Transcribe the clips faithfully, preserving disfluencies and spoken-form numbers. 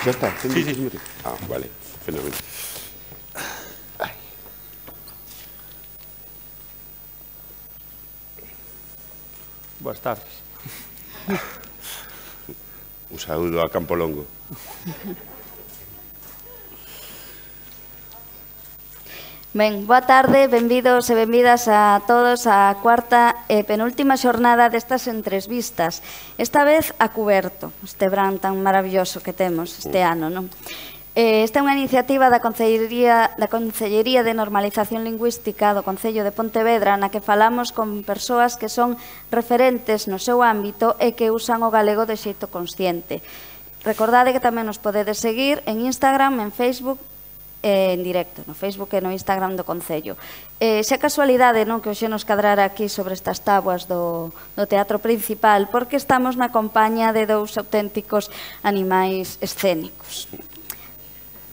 Xa está? Sí, sí. Ah, vale, fenómeno. Boas tardes. Un saúdo a Campo Longo. Ben, boa tarde, benvidos e benvidas a todos á cuarta e penúltima xornada destas entrevistas. Esta vez a cuberto, este verán tan maravilloso que temos este ano, non? Esta é unha iniciativa da Consellería, da Consellería de Normalización Lingüística do Concello de Pontevedra na que falamos con persoas que son referentes no seu ámbito e que usan o galego de xeito consciente. Recordade que tamén nos podedes seguir en Instagram, en Facebook, en directo, no Facebook e no Instagram do Concello. Xa casualidade non que hoxe nos cadrara aquí sobre estas tábuas do, do teatro principal, porque estamos na compañía de dous auténticos animais escénicos.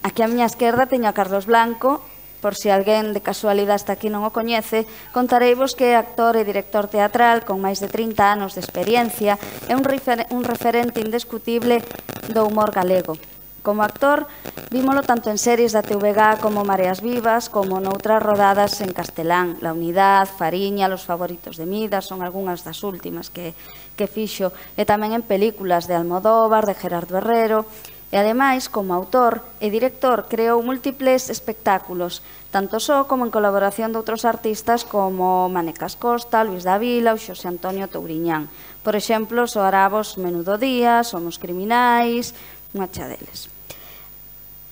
Aquí á miña esquerda teño a Carlos Blanco, por se alguén de casualidade hasta aquí non o coñece, contareivos que é actor e director teatral con máis de trinta anos de experiencia e un, refer un referente indiscutible do humor galego. Como actor, vímolo tanto en series da T V G como Mareas Vivas, como noutras rodadas en castelán. La Unidad, Fariña, Los Favoritos de Midas, son algunhas das últimas que, que fixo, e tamén en películas de Almodóvar, de Gerardo Herrero. E, ademais, como autor e director, creou múltiples espectáculos, tanto só como en colaboración de outros artistas como Manecas Costa, Luis Davila ou Xosé Antonio Touriñán. Por exemplo, soarabos Menudo Día, Somos Criminais, unha xa deles.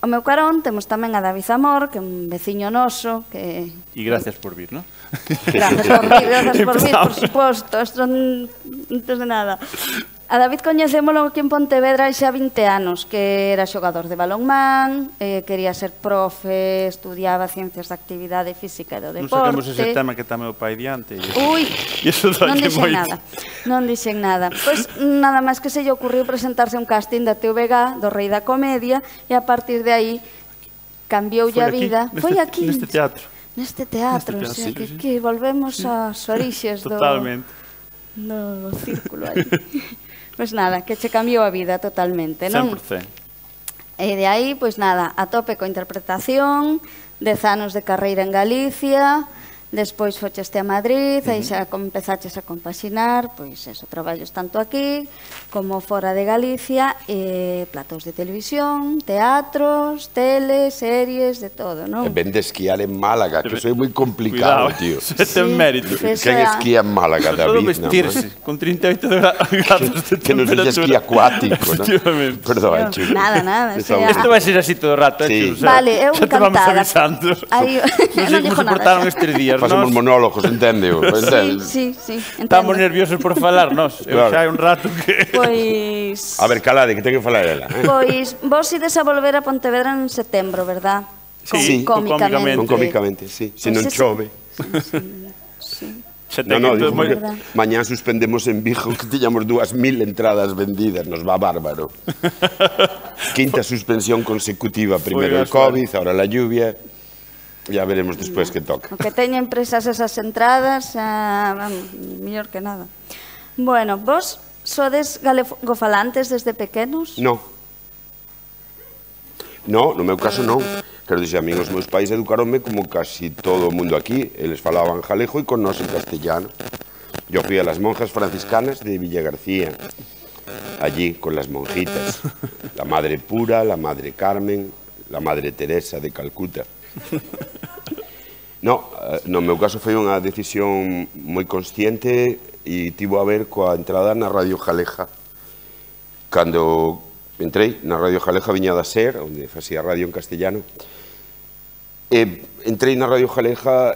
O meu carón temos tamén a David Zamor, que é un veciño noso, que... E gracias por vir, non? Gracias por vir, gracias por vir, por suposto, isto non antes de nada. A David coñecémolo aquí en Pontevedra hai xa vinte anos, que era xogador de balonmán, eh, quería ser profe, estudiaba ciencias da actividade física e do deporte. Non saquemos ese tema que está meu pai diante. Ui, non dixen nada, non dixen nada. Pois nada máis que se lle ocurriu presentarse a un casting da T V G, do Rei da Comedia, e a partir de aí cambioulle a vida. Foi aquí, neste teatro. Neste teatro, o sea, que volvemos ás orixes do... Totalmente. Do círculo aí. Pois nada, que che cambiou a vida totalmente, non? cen por cento. E de aí, pois nada, a tope coa interpretación, dez anos de carreira en Galicia, despois focheste a Madrid, aí xa empezaches a compaxinar, pois eso, traballos tanto aquí como fora de Galicia, e platós de televisión, teatros, tele, series, de todo, non? E ven de esquiar en Málaga, que eso é moi complicado, tío. Eso ten mérito. Quen esquía en Málaga, David? Todo vestirse, con treinta e oito grados de temperatura. Que non sexa esquí acuático, non? Efectivamente. Perdón, Chu. Nada, nada. Isto vai ser así todo o rato, eh, Chu. Vale, eu encantada. Xa te vamos avisando. Non sei como se portaron estes días, Pasamos monólogos, entendeo? Sí, sí, sí. Estamos nerviosos por falar, nos. Eu xa hai un rato que... Pois... A ver, calade, que ten que falar ela. Pois, vos ides a volver a Pontevedra en setembro, verdad? Sí, cómicamente. Con cómicamente, sí. Se non chove. Sí. No, no, digo que mañá suspendemos en Vigo que tiñamos dúas mil entradas vendidas, nos va bárbaro. Quinta suspensión consecutiva, primero el COVID, ahora la lluvia. Ya veremos despois que toca. O que teñen presas esas entradas, mellor que nada. Bueno, vos sodes galegofalantes desde pequenos? No. No, no meu caso non. Quero dixer, a mí os meus pais educaronme como casi todo o mundo aquí. Eles falaban galego e con nós en castellano. Yo fui a las monjas franciscanas de Villa García, allí con las monjitas. La Madre Pura, la Madre Carmen, la Madre Teresa de Calcuta. No, no meu caso foi unha decisión moi consciente e tivo a ver coa entrada na Radio Jaleja. Cando entrei na Radio Jaleja viña da SER, onde facía radio en castellano, e entrei na Radio Jaleja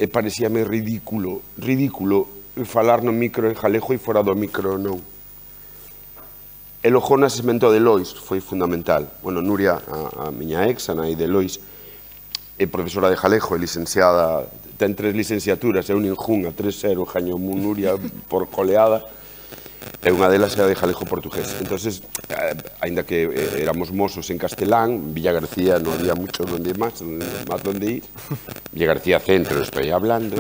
e parecíame ridículo, ridículo falar no micro en jalejo e fora do micro non. E logo o nascimento de Lois foi fundamental. Bueno, Nuria, a, a miña ex, a nai de Lois, é profesora de Jalejo, é licenciada, ten tres licenciaturas, é un injún a tres cero, gañou Nuria por coleada, e unha delas é a de Jalejo portugués. Entonces, aínda que éramos mozos en castelán, Villa García non había mucho donde máis, máis donde ir, Villa García centro, estoy hablando.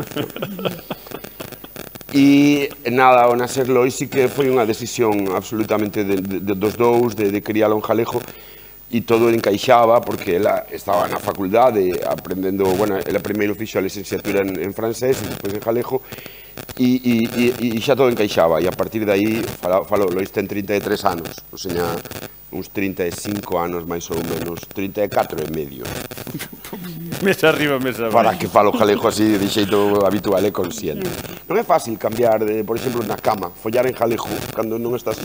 E nada, ao nacer Lois sí que foi unha decisión absolutamente de, de, de, dos dous, de, de crialo en galego, e todo encaixaba, porque ela estaba na facultade aprendendo, bueno, ela primeiro fixo a licenciatura en, en francés e despois en galego, e, e, e, e xa todo encaixaba, e a partir de aí, falou, falou Lois ten trinta e tres anos, o sea, uns trinta e cinco anos máis ou menos, trinta e catro e medio. Mesa arriba, mesa abaixo. Para que falo galego así de xeito habitual e consciente. Non é fácil cambiar, de, por exemplo, na cama, follar en galego, cando non estás...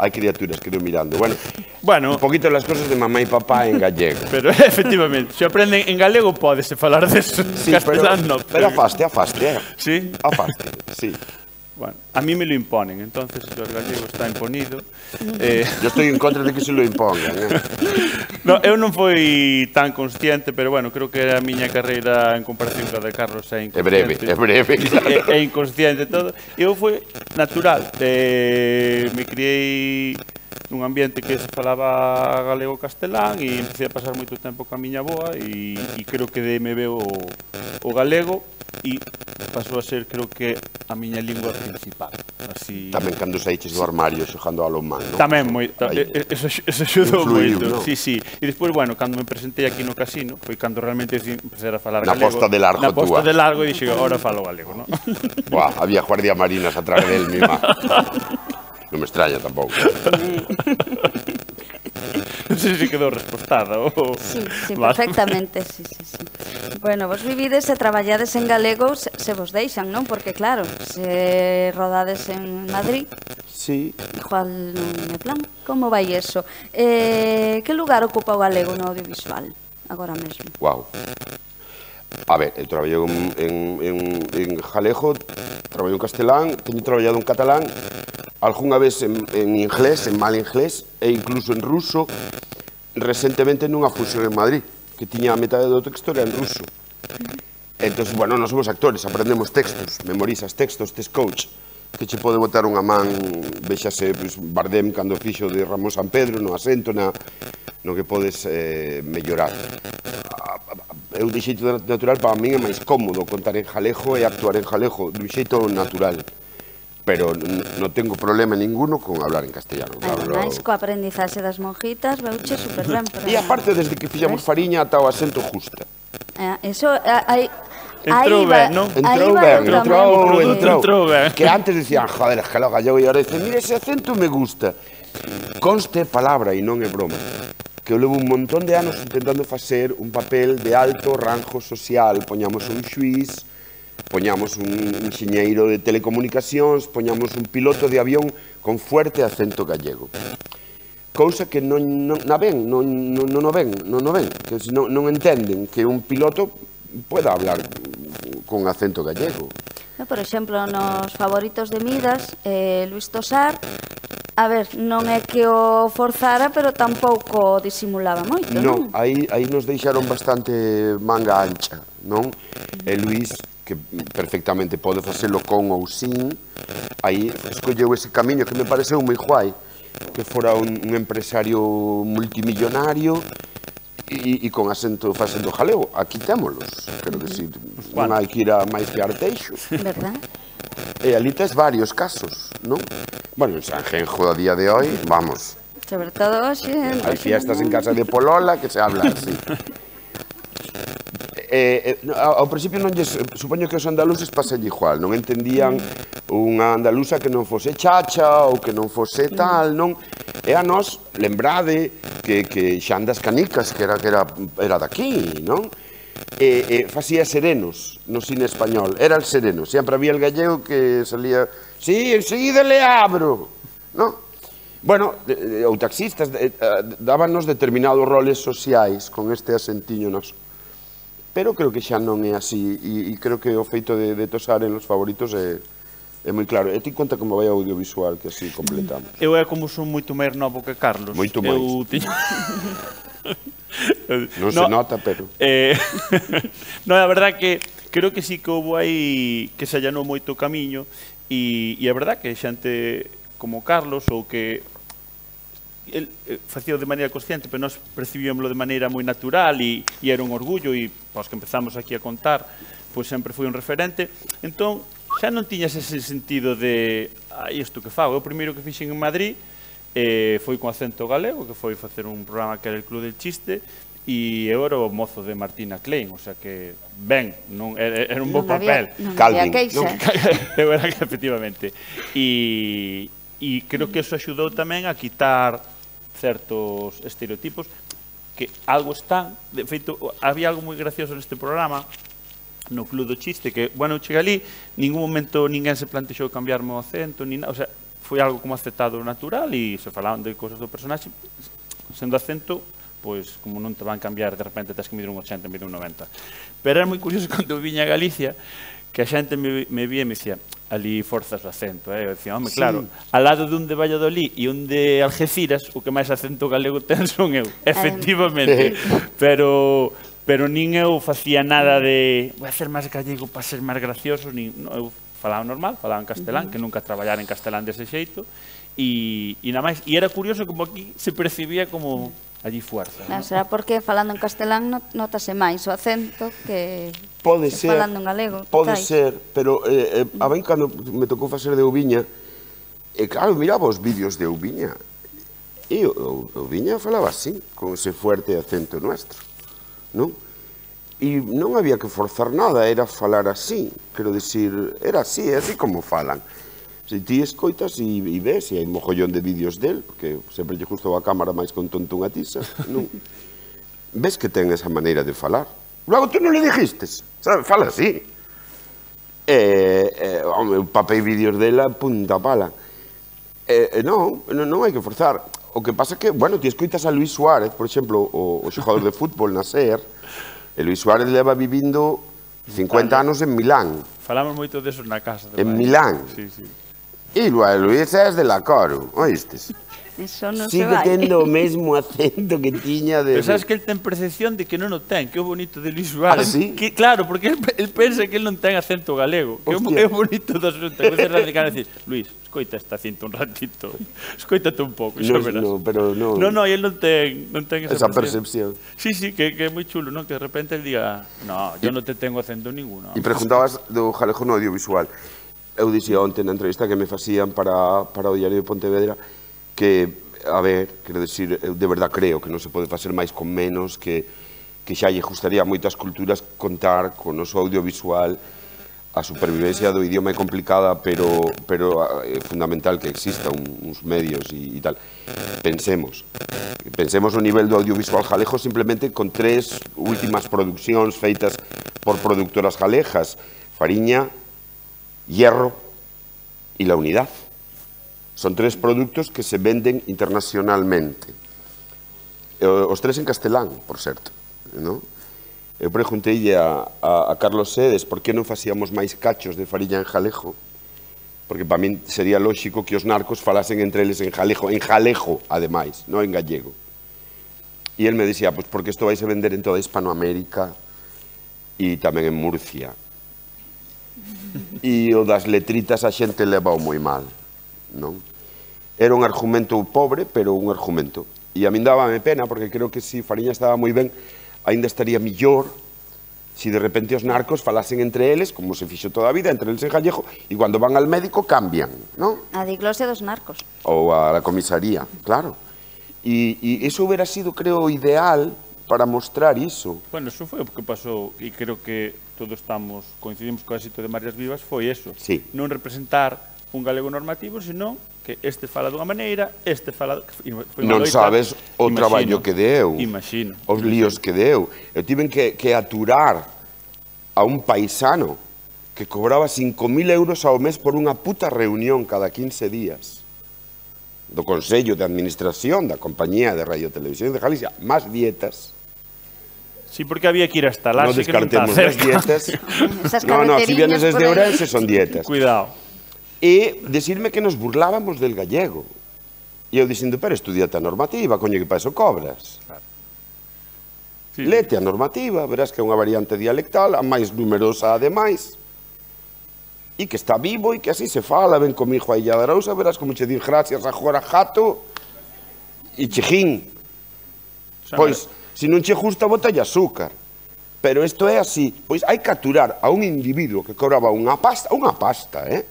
Hai criaturas que ido mirando. Bueno, bueno, un poquito las cosas de mamá e papá en gallego. Pero, efectivamente, se aprenden en galego, pódese falar deso. Sí, castelano, pero, pero afaste, afaste, eh? Sí? Afaste, sí. Bueno, a mí me lo imponen, entonces el gallego está imponido. Eh... Yo estoy en contra de que se lo impongan. Eh? No, eu non fui tan consciente, pero bueno, creo que a miña carreira en comparación ca de Carlos é inconsciente. É breve, é breve. Claro. É, é inconsciente todo. Eu foi natural. Eh, me criei nun ambiente que se falaba galego-castelán e empecé a pasar moito tempo ca miña avoa e, e creo que de me veo o, o galego e pasou a ser, creo que, a miña lingua principal. Así... Tamén cando saíches do armario xogando a lomán, non? Tamén, moi, ta, eso, eso xudou influiu, moito. ¿no? Sí, sí. E despois, bueno, cando me presentei aquí no casino, foi cando realmente empecé a falar na galego. Na posta de largo, Na posta túa. de largo e dixo, ahora falo galego, non? Buah, había guardia marinas atrás del mima. Non me extraña tampouco. Non sei se quedou respostada ou... Sí, sí, perfectamente, sí, sí, sí. Bueno, vos vivides e traballades en galego se, se vos deixan, non? Porque claro, se rodades en Madrid, sí. Igual non é plan. Como vai eso? Eh, que lugar ocupa o galego no audiovisual agora mesmo? Guau. A ver, eu traballei en, en, en, en galego, traballei en castelán, teño traballado en catalán, algunha vez en, en inglés, en mal inglés, e incluso en ruso, recentemente nunha fusión en Madrid, que tiña a metade do texto era en ruso. Entón, bueno, non somos actores, aprendemos textos, memorizas textos, tes coach, que che pode botar unha man, vexase, pues, Bardem cando fixo de Ramón San Pedro, no acento, na, no que podes eh, mellorar. Eu de xeito natural, para min é máis cómodo contar en galego e actuar en galego, de xeito natural. Pero non tengo problema ninguno con hablar en castellano. Ademais, co aprendizaxe das monjitas, veuche super ben. E aparte, desde que fixamos Fariña, ata o acento justa. Eso, hai... Entrou ben, non? Entrou ben, entrou, entrou ben. Que antes decían, joder, es que lo gallego, e agora dicen, mira, ese acento me gusta. Conste palabra, e non é broma, que eu levo un montón de anos intentando facer un papel de alto rango social. Poñamos un xuiz, poñamos un enxeñeiro de telecomunicacións, poñamos un piloto de avión con fuerte acento gallego. Cousa que non, non, non ven, non, non, non o ven, non o ven, que non, non entenden que un piloto pueda hablar con acento gallego. Por exemplo, nos favoritos de Midas, eh, Luis Tosar, a ver, non é que o forzara, pero tampouco disimulaba moito, non? Non, aí, aí nos deixaron bastante manga ancha, non? E Luis, que perfectamente pode facelo con ou sin, aí escolleu ese camiño que me pareceu moi guai, que fora un, un empresario multimillonario e, e con acento facendo galego. Aquí témolos, creo que si, non hai que ir a máis que Arteixo. Verdad? E ali tes varios casos, non? Bueno, en Sanjenjo a día de hoy, vamos. Sobre todo hoxe... Hai fiestas en casa de Polola que se habla así. Eh, eh, ao principio non lles, supoño que os andaluces pasalle igual, non entendían unha andaluza que non fose chacha ou que non fose tal, non? E a nós, lembrade que, que Xan das Canicas, que era, que era, era daqui, non? E, e facía serenos no cine español, era el sereno, sempre había el gallego que salía, sí, enseguida le abro, non? Bueno, ou taxistas dábanos determinados roles sociais con este asentiño noso. Pero creo que xa non é así, e, e creo que o feito de, de tosar en los favoritos é, é moi claro. E ti conta como vai o audiovisual, que así completamos. Eu é como son moito máis novo que Carlos. Moito máis. Eu tiño... non se nota, pero... Eh, non, a verdad que creo que sí que houve aí que se allanou moito o camiño, e, e a verdad que xente como Carlos, ou que el eh, facía de maneira consciente, pero nós percibíamoslo de maneira moi natural e, e era un orgullo, e pois que empezamos aquí a contar, pois sempre foi un referente. Entón, xa non tiñas ese sentido de ah, isto que fago. Eu primeiro que fixen en Madrid eh, foi con acento galego, que foi facer un programa que era el Club del Chiste, e eu era o mozo de Martina Klein, o sea que, ben, non, era, era un bo papel. Non había queixa. Eu era, efectivamente. E, e creo que eso axudou tamén a quitar certos estereotipos que algo están. De feito, había algo moi gracioso neste programa, no Club do Chiste, que, bueno, eu cheguei ali, ningún momento ninguén se plantexou cambiarme o acento, ni nada, o sea, foi algo como aceptado natural e se falaban de cousas do personaxe, sendo acento, pois, como non te van cambiar, de repente tens que medir un ochenta en vez de un noventa. Pero era moi curioso cando eu viña a Galicia, que a xente me, me vía e me dicía, ali forzas o acento, eh? Eu dicía, home, sí, claro, al lado dun de Valladolid e un de Algeciras, o que máis acento galego ten son eu, efectivamente, pero... pero nin eu facía nada de vou hacer máis gallego para ser máis gracioso, nin, no, eu falaba normal, falaba en castelán, uh -huh. que nunca traballara en castelán dese xeito, e, e nada máis, e era curioso como aquí se percibía como allí fuerza. Non, ¿no? Será porque falando en castelán notase máis o acento que, pode que ser, falando en galego. Pode tai. ser, pero eh, eh, a ben cando me tocou facer de Ouviña, e eh, claro, miraba os vídeos de Ouviña, e o, o, Ouviña falaba así, con ese fuerte acento nuestro. Non? E non había que forzar nada, era falar así, quero dicir, era así, é así como falan. Se ti escoitas e, e ves, e hai mogollón de vídeos del, porque sempre lle gustou a cámara máis con tonto unha tiza, non? Ves que ten esa maneira de falar. Logo tú non le dijistes, sabe? Fala así. E, e, home, papei vídeos dela, punta pala. E, e non, non hai que forzar. O que pasa é que, bueno, ti escoitas a Luis Suárez, por exemplo, o, o xogador de fútbol na SER, e Luis Suárez leva vivindo cincuenta anos en Milán. Falamos moito deso na casa. En Milán. Sí, sí. E Luis é de la Coro, oístes? Eso non Sigue se vai. tendo o mesmo acento que tiña de... Pero sabes que el ten percepción de que non o ten, que é o bonito de Luis Suárez. Ah, sí? Que, claro, porque el, el pensa que el non ten acento galego. Que é o bonito do asunto. A veces radical decir, Luis, escoita esta cinta un ratito, escoitate un pouco, xa verás. No, pero non... No, no, el non ten, non ten esa, esa percepción. Sí, sí, que, que é moi chulo, non? Que de repente el diga, no, yo non te tengo acento ninguno. E preguntabas do galego no audiovisual. Eu dixía onte na entrevista que me facían para, para o Diario de Pontevedra que, a ver, quero dicir, eu de verdad creo que non se pode facer máis con menos, que, que xa lle gustaría a moitas culturas contar con o noso audiovisual. A supervivencia do idioma é complicada, pero, pero é fundamental que exista un, uns medios e, e tal. Pensemos, pensemos o nivel do audiovisual galego simplemente con tres últimas produccións feitas por productoras galegas, Fariña, Hierro y La Unidad. Son tres productos que se venden internacionalmente. Os tres en castelán, por certo, ¿no? Eu pregunteille a, a, a Carlos Sedes por que non facíamos máis cachos de Fariña en galego, porque para min sería lóxico que os narcos falasen entre eles en galego, en galego, ademais, non en gallego. E el me dicía, pues porque isto vais a vender en toda Hispanoamérica e tamén en Murcia. E o das letritas a xente levao moi mal, non? Era un argumento pobre, pero un argumento. E a min dábame pena, porque creo que se Fariña estaba moi ben, ainda estaría millor se de repente os narcos falasen entre eles, como se fixo toda a vida, entre eles en gallego, e cando van al médico cambian, non? A diglosia dos narcos. Ou a la comisaría, claro. E, e iso hubiera sido, creo, ideal para mostrar iso. Bueno, eso foi o que pasou, e creo que todos estamos, coincidimos co éxito de Marias Vivas, foi eso. Sí. Non representar un galego normativo, senón que este fala dunha maneira, este fala... Non sabes o traballo que deu. Imagino. Os líos que deu. Eu tiven que, que aturar a un paisano que cobraba cinco mil euros ao mes por unha puta reunión cada quince días do Consello de Administración da Compañía de Radio e Televisión de Galicia, máis dietas. Sí, porque había que ir hasta lá. Non descartemos as dietas. No, no, si vienes desde Ourense son dietas. Cuidado. E decirme que nos burlábamos del gallego. E eu dicindo, pero estudiate a normativa, coño, que para eso cobras. Claro. Sí. Lete a normativa, verás que é unha variante dialectal, a máis numerosa ademais, e que está vivo e que así se fala, ven comigo a Illa de Arousa, verás como che din gracias a Jora Jato e Chejín. Pois, se non che gusta, botalle azúcar. pero isto é así. Pois hai que aturar a un individuo que cobraba unha pasta, unha pasta, eh?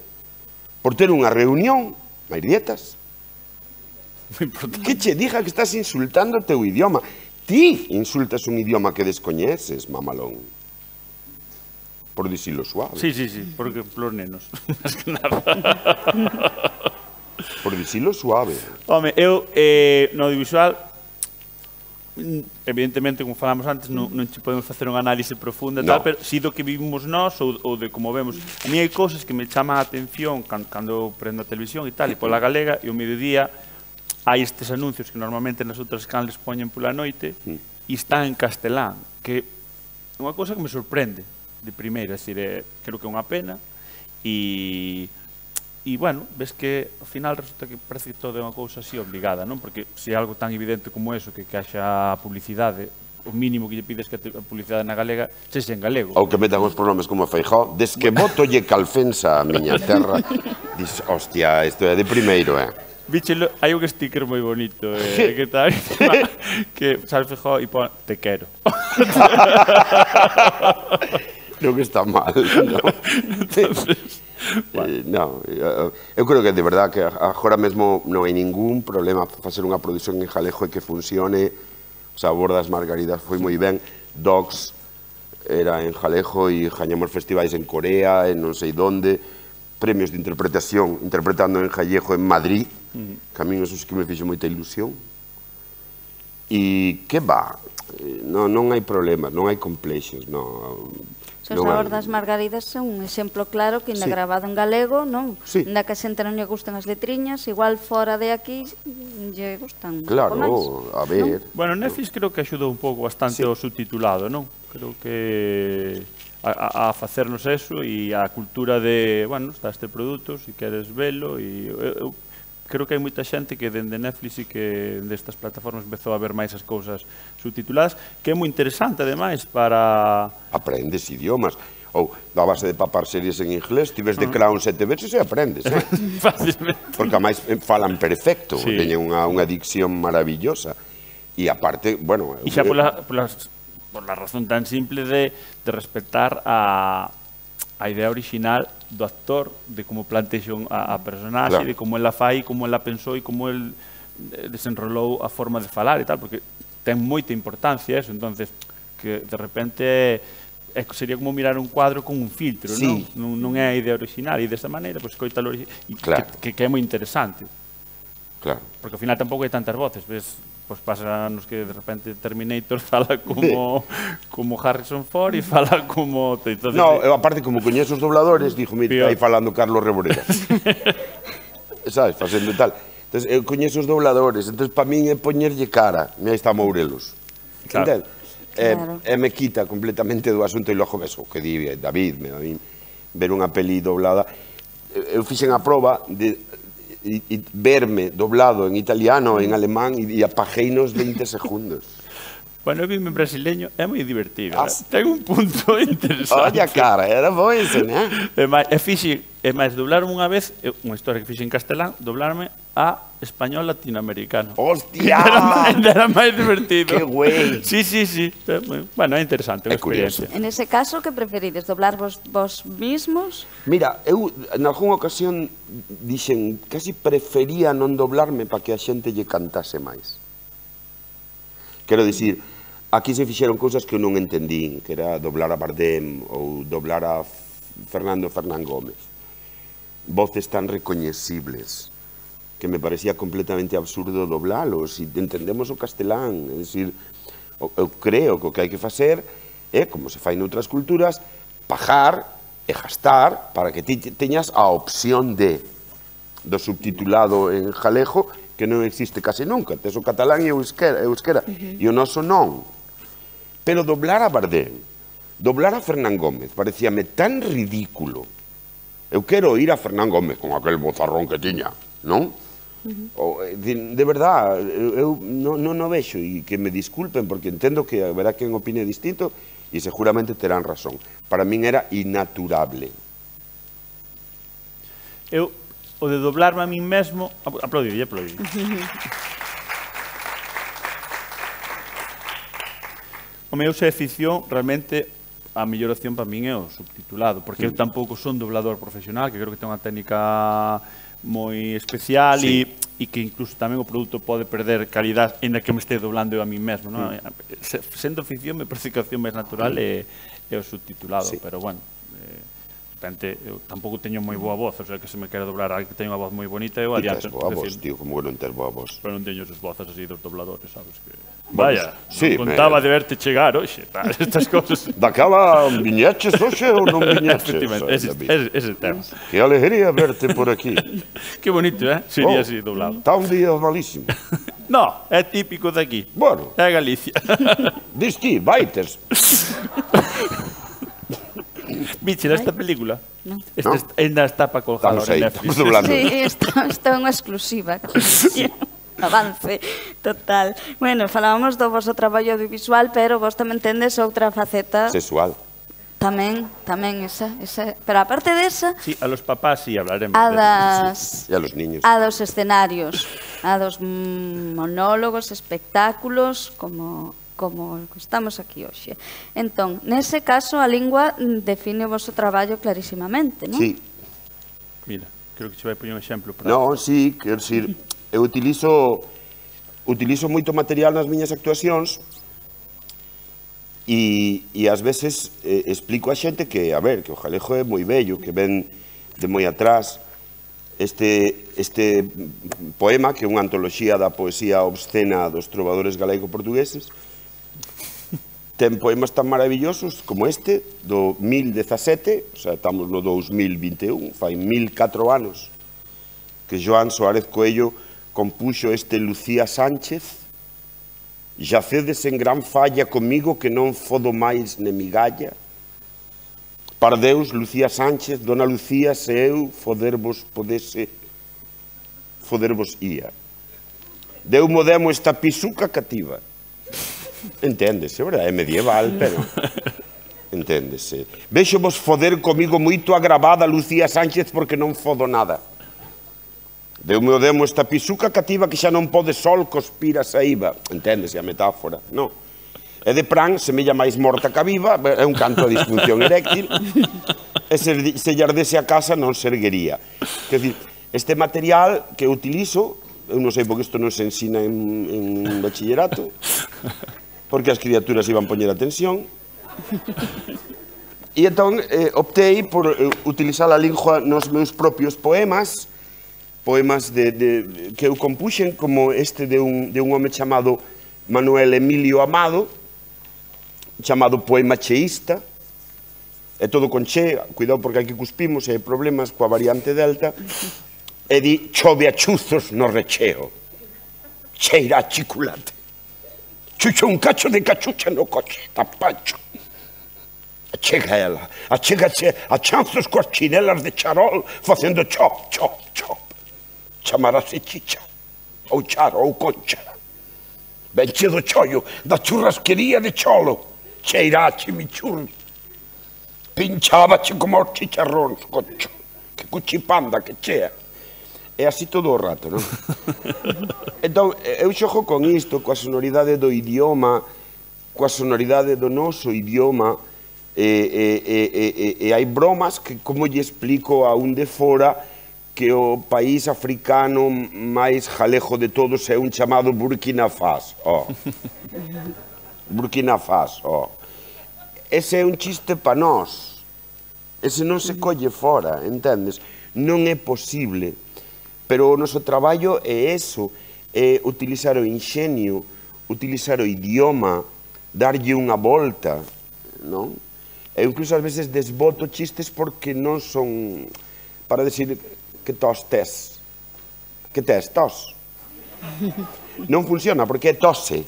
Por ter unha reunión, máis dietas. Que che diga que estás insultando o teu idioma. Ti insultas un idioma que descoñeces, mamalón. Por dicilo suave. Sí, sí, sí, porque por nenos, máis que nada. Por dicilo suave. Home, eu, eh, no audiovisual, evidentemente, como falamos antes, non, non che podemos facer unha análise profunda, no. tal, pero si do que vivimos nós ou, ou de como vemos. A mí hai cousas que me chaman a atención cando, cando prendo a televisión e tal, e pola galega, e o mediodía hai estes anuncios que normalmente nas outras canles poñen pola noite e están en castelán, que é unha cousa que me sorprende de primeira, é dicir, é, creo que é unha pena e... E, bueno, ves que, ao final, resulta que parece que todo é unha cousa así obligada, non? Porque se é algo tan evidente como eso, que, que haxa publicidade, o mínimo que lle pides que a publicidade na galega sexa en galego. Ou que metan os pronomes como Feijóo. Des que botolle calfensa a miña terra, dis, hostia, isto é de primeiro, eh? Víchelo, hai un sticker moi bonito, eh, que tal, que sale Feijóo e pon, te quero. Creo que está mal, non? Entonces... Eh, no, eu creo que de verdad que agora mesmo non hai ningún problema facer unha produción en Jalejo e que funcione. O Sabor das Margaridas foi moi ben, Dogs era en Jalejo e gañamos festivais en Corea, en non sei donde, premios de interpretación interpretando en Jalejo en Madrid, que a mí eso que me fixo moita ilusión. E que va, non, non hai problemas, non hai complexos, non. O Sabor das Margaridas é un exemplo claro que ainda grabado en galego, non? Ainda que a xente non lle gustan as letriñas, igual fora de aquí lle gustan. Claro, a ver. Bueno, Netflix creo que axudou un pouco bastante o subtitulado, non? Creo que a facernos eso e a cultura de, bueno, está este produto, se queres velo, e eu creo que hai moita xente que dende Netflix e que destas plataformas empezou a ver máis as cousas subtituladas, que é moi interesante, ademais, para... Aprendes idiomas. Ou, da base de papar series en inglés, ti ves de Crown sete veces e aprendes, eh? Fácilmente. Porque, ademais, falan perfecto, teñen unha dicción maravillosa. E, aparte, bueno... E xa pola razón tan simple de respetar a... a idea original do actor, de como plantexou a, a personaxe, claro, de como ela fai, como ela pensou e como el desenrolou a forma de falar e tal, porque ten moita importancia eso, entonces que de repente é, sería como mirar un cuadro con un filtro, sí, non? Non é a idea original, e desta maneira, pois, pues, coita claro, que, que, que é moi interesante. Claro. Porque ao final tampouco hai tantas voces, ves? Pois pásanos que de repente Terminator fala como como Harrison Ford e fala como... Entonces, no, eu aparte como coñezo os dobladores, dixo, mira, aí falando Carlos Reboreda. Sabes, facendo tal. Entonces, eu coñezo os dobladores, entonces para min é poñerlle cara. Mira, aí está Mourelos. Claro. Claro. E me quita completamente do asunto e logo ves o que di David, me, a mí, ver unha peli doblada. Eu fixen a proba de... E, e verme doblado en italiano, en alemán, e apaguei nos veinte segundos. Bueno, eu vime en brasileño, é moi divertido. Ah, ten un punto interesante. Olla, cara, era bo ese, né? E máis, e fixe, e máis, doblarme unha vez, unha historia que fixe en castelán, doblarme a español latinoamericano. ¡Hostia! Era máis divertido. ¡Qué güey! Sí, sí, sí. Bueno, é interesante, é experiencia. En ese caso, que preferides? Doblar vos, vos mismos? Mira, eu, en algunha ocasión, dixen, casi prefería non doblarme para que a xente lle cantase máis. Quero dicir, aquí se fixeron cousas que eu non entendín, que era doblar a Bardem ou doblar a Fernando Fernán Gómez. Voces tan recoñecibles que me parecía completamente absurdo doblalos, e entendemos o castelán, é dicir, eu creo que o que hai que facer é, como se fai noutras culturas, pagar e gastar para que ti teñas a opción de do subtitulado en galego, que non existe case nunca, tes o catalán e o euskera, euskera uh-huh. e o noso non. Pero doblar a Bardem, doblar a Fernán Gómez, parecíame tan ridículo. Eu quero ir a Fernán Gómez con aquel bozarrón que tiña, non? Uh-huh. de, de verdad, eu non no, no vexo, e que me disculpen, porque entendo que haberá quen opine distinto, e seguramente terán razón. Para min era inaturable. Eu, o de doblarme a min mesmo, aplaudir, aplaudir. O meu se é ficción, realmente a mellor opción para min é o subtitulado, porque eu tampouco son doblador profesional, que creo que ten unha técnica moi especial e e que incluso tamén o produto pode perder calidad en a que me este doblando eu a mí mesmo, non? Sendo ficción, me parece que a opción máis natural é o subtitulado, pero bueno, repente, eu tampouco teño moi boa voz, o sea, que se me quere doblar alguén que teño unha voz moi bonita, eu adianto. E tes boa voz, tío, como que non tes boa voz. Pero non teño esas voces así dos dobladores, sabes? Que... Vaya, sí, contaba me... de verte chegar, oxe, tal, estas cosas. Daquela, viñeches, oxe, ou non viñeches? Efectivamente, ese, ese, ese tema. Que alegría verte por aquí. Que bonito, eh? Sería oh, así doblado. Está un día malísimo. No, é típico de aquí. Bueno. É Galicia. Dis ti, vaites. Viche esta película? No. Esta no. Ainda está para colgar en Netflix. Sí, está unha exclusiva. Avance, total. Bueno, falábamos do vosso traballo audiovisual, pero vos tamén tendes outra faceta... Sexual. Tamén, tamén esa, esa. Pero aparte desa... Sí, a los papás sí hablaremos. A das... E a los niños. A dos escenarios, a dos monólogos, espectáculos, como... como estamos aquí hoxe. Entón, nese caso, a lingua define o vosso traballo clarísimamente, non? Sí. Mira, creo que se vai poñer un exemplo. Para... Non, sí, quero dicir, eu utilizo, utilizo moito material nas miñas actuacións e, e ás veces eh, explico a xente que, a ver, que o Jalejo é moi bello, que ven de moi atrás. Este, este poema, que é unha antoloxía da poesía obscena dos trovadores galaico-portugueses, ten poemas tan maravillosos como este, do mil dezasete, o sea, estamos no dous mil vinte e un, fai mil catro anos, que Joan Soárez Coello compuxo este Lucía Sánchez, Yacedes en gran falla comigo que non fodo máis ne migalla, para Deus, Lucía Sánchez, Dona Lucía, se eu fodervos podese, fodervos ía. Deu mo demo esta pisuca cativa. Enténdese, verdad? É medieval, pero... Enténdese. Vexo vos foder comigo moito agravada, Lucía Sánchez, porque non fodo nada. Deu mo demo esta pisuca cativa que xa non pode sol cospir a saíba. Enténdese a metáfora, non? E de pran, semella máis morta que viva, é un canto a disfunción eréctil, e se, se lle ardese a casa non se erguería. Quer dizer, este material que utilizo, eu non sei porque isto non se ensina en, en bachillerato, porque as criaturas iban poñer atención, e entón eh, optei por eh, utilizar a lingua nos meus propios poemas, poemas de, de, que eu compuxen, como este de un, de un home chamado Manuel Emilio Amado, chamado Poema Cheísta, é todo con che, cuidado porque aquí cuspimos e hai problemas coa variante delta, e di, chove a chuzos no recheo, cheira a chiculate, chucho un cacho de cachucha no coche, tapacho, achega ela, achégase a chanzos coas chinelas de charol, facendo chop, chop, chop, chamarase chicha, ou charo, ou concha, venche do chollo, da churrasquería de cholo, cheira a chimichurri, pinchabache como os chicharróns, cocho, que cuchipanda, que chea. É así todo o rato, non? Entón, eu xogo con isto, coa sonoridade do idioma, coa sonoridade do noso idioma, e, e, e, e, e hai bromas que, como lle explico a un de fora, que o país africano máis jalejo de todos é un chamado Burkina Faso. Oh. Burkina Faso. Oh. Ese é un chiste pa nós. Ese non se colle fora, entendes? Non é posible. Pero o noso traballo é eso, é utilizar o inxenio, utilizar o idioma, darlle unha volta, non? E incluso ás veces desboto chistes porque non son para decir que tos tes. Que tes, tos. Non funciona porque é tose.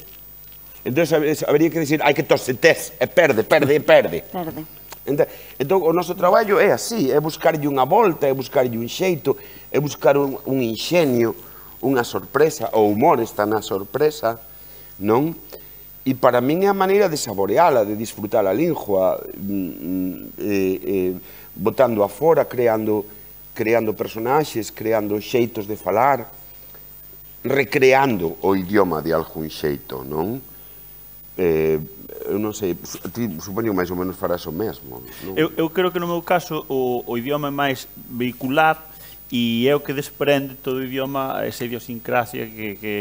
Entón, habería que dicir, hai que tose tes, e perde, perde, e perde. Perde. Entón, o noso traballo é así, é buscarlle unha volta, é buscarlle un xeito, é buscar un, un inxenio, unha sorpresa, o humor está na sorpresa, non? E para min é a maneira de saboreala, de disfrutar a lingua, eh, eh, botando afora, creando, creando personaxes, creando xeitos de falar, recreando o idioma de algún xeito, non? eh, eu non sei, ti supoño máis ou menos farás o mesmo. Non? Eu, eu creo que no meu caso o, o idioma é máis vehicular e é o que desprende todo o idioma, esa idiosincrasia que, que,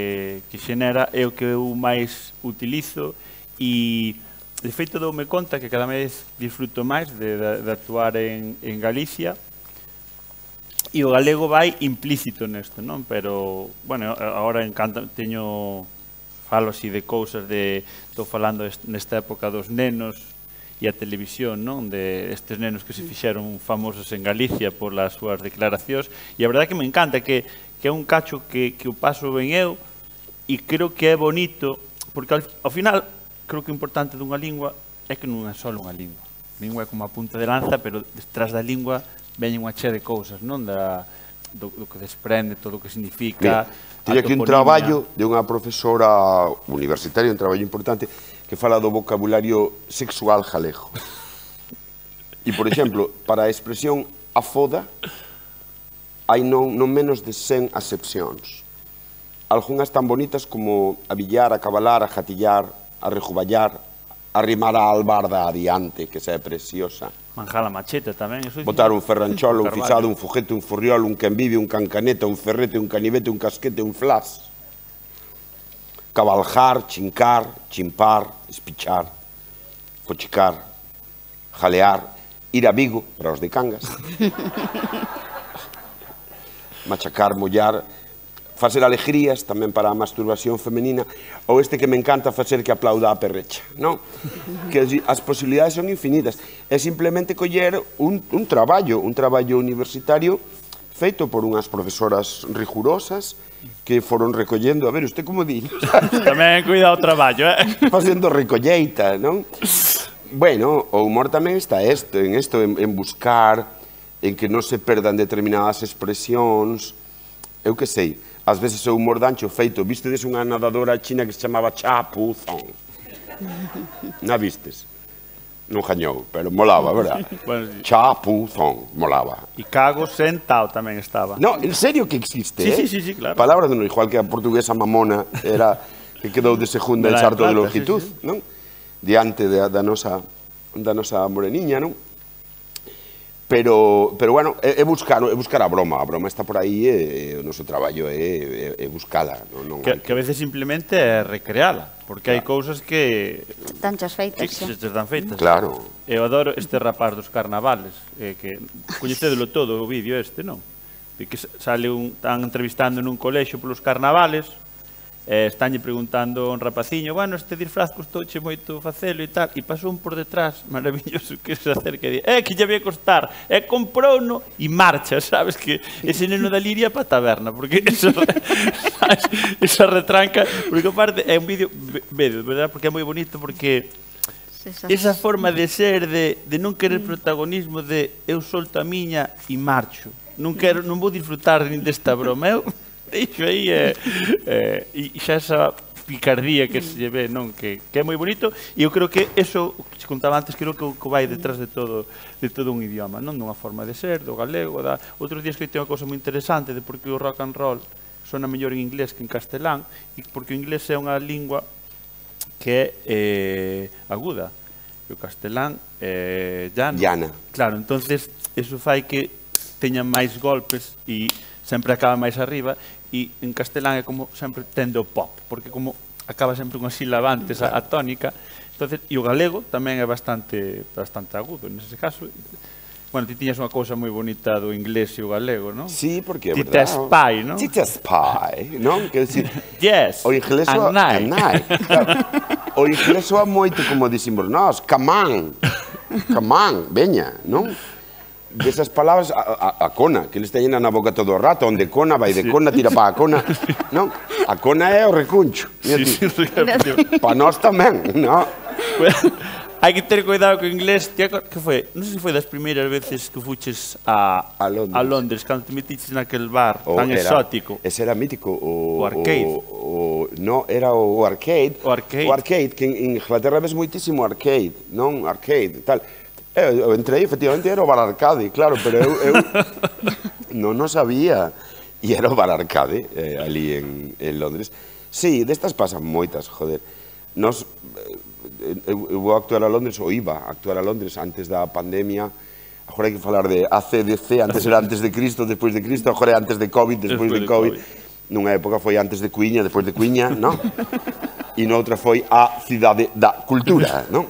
que xenera, é o que eu máis utilizo e de feito doume conta que cada vez disfruto máis de, de, de actuar en, en Galicia e o galego vai implícito nesto, non? Pero, bueno, agora encanta, teño... falo así de cousas de, estou falando nesta época dos nenos e a televisión, non? De estes nenos que se fixeron famosos en Galicia por las súas declaracións e a verdade que me encanta que, que é un cacho que, que o paso ben eu e creo que é bonito porque ao, ao final creo que o importante dunha lingua é que non é só unha lingua. A lingua é como a punta de lanza, pero detrás da lingua veñen unha chea de cousas, non? Da, do, do que desprende, todo o que significa. Tiña aquí un traballo de unha profesora universitaria, un traballo importante, que fala do vocabulario sexual galego. E, por exemplo, para a expresión afoda, hai non, non menos de cen acepcións. Algunhas tan bonitas como abillar, acabalar, ajatillar, arrejuballar, arrimar a albarda adiante, que xa é preciosa. Manjar a macheta tamén. Botar un ferrancholo, un fixado, un foguete, un furriol, un canvive, un cancaneta, un ferrete, un canivete, un casquete, un flas. Cabaljar, chincar, chimpar, espichar, fochicar, jalear, ir a Vigo, para os de Cangas. Machacar, mollar, facer alegrías tamén para a masturbación femenina, ou este que me encanta facer que aplauda a perrecha, non? Que as posibilidades son infinitas. É simplemente coller un, un traballo, un traballo universitario feito por unhas profesoras rigurosas que foron recollendo, a ver, usted como di? Tamén cuida o traballo, eh? Facendo recolleita, non? Bueno, o humor tamén está esto, en isto, en, en buscar, en que non se perdan determinadas expresións, eu que sei. Ás veces o humor dancho feito, vistedes unha nadadora china que se chamaba Cha Pu Zong? Na vistes? Non gañou, pero molaba, verdad? Bueno, sí. Cha Pu Zong, molaba. E cago sentao tamén estaba. No, en serio que existe, sí, eh? Sí, sí, sí, claro. Palabra de non, igual que a portuguesa mamona era que quedou de segunda en salto de longitud, sí, sí. Non? Diante da, da, nosa, da nosa moreniña, non? Pero, pero bueno, é, é, buscar, é buscar a broma, a broma está por aí e o noso traballo é, é, é buscala. Non, non que, que a veces simplemente é recreala, porque hai claro. cousas que... Están chas feitas, que, que están feitas. Claro. Eu adoro este rapaz dos carnavales, eh, que coñecedelo todo o vídeo este, non? De que sale un, están entrevistando nun colexio polos carnavales, eh, estánlle preguntando a un rapaciño, bueno, este disfraz costouche moito facelo e tal, e pasou un por detrás, maravilloso, que se acerca e di, eh, que lle vai costar, e comprouno e marcha, sabes, que ese neno da Liria para a taberna, porque eso, sabes, esa retranca, porque aparte é un vídeo, vedo, verdad, porque é moi bonito, porque esa forma de ser, de, de non querer protagonismo, de eu solto a miña e marcho, non quero, non vou disfrutar nin desta broma, eu deixo aí e eh, eh, xa esa picardía que se ve, non, que, que é moi bonito e eu creo que eso, que se contaba antes, creo que o que vai detrás de todo de todo un idioma, non, dunha forma de ser, do galego, da... Outros días que ten unha cosa moi interesante de por que o rock and roll sona mellor en inglés que en castelán e porque o inglés é unha lingua que é eh, aguda e o castelán é eh, llano. Llana. Claro, entonces eso fai que teñan máis golpes e sempre acaba máis arriba e en castelán é como sempre tende o pop, porque como acaba sempre unha sílaba antes a, a tónica, entonces, e o galego tamén é bastante bastante agudo nese caso. Bueno, ti tiñas unha cousa moi bonita do inglés e o galego, non? Sí, porque é Tita verdad. Spy, non? Tita Spy, non? Quer decir, yes, o inglés and night. Claro. O inglés soa moito como dicimos nós, come on, come on, veña, non? Desas palabras, a, a, a cona, que eles teñen na boca todo o rato, onde cona, vai de cona, tira pa a cona, non? A cona é o recuncho. Sí, sí, pa nós tamén, non? Hai que ter cuidado co inglés, que foi? Non sei se foi das primeiras veces que fuches a, a Londres, a Londres cando te metiches naquel bar o tan era, exótico. Ese era mítico. O, o arcade. O, o, no, era o arcade. O arcade. O arcade, que en Inglaterra ves moitísimo arcade, non? Arcade, tal. Eu entrei, efectivamente, era o bar arcade, claro, pero eu, eu non o sabía. E era o bar arcade, eh, ali en, en Londres. Sí, destas pasan moitas, joder. Nos, eu, eu vou actuar a Londres, ou iba a actuar a Londres antes da pandemia. Agora hai que falar de A C D C, antes era antes de Cristo, despois de Cristo, agora é antes de COVID, despois de COVID. Nunha época foi antes de Cuiña, despois de Cuiña, non? E noutra foi a cidade da cultura, non?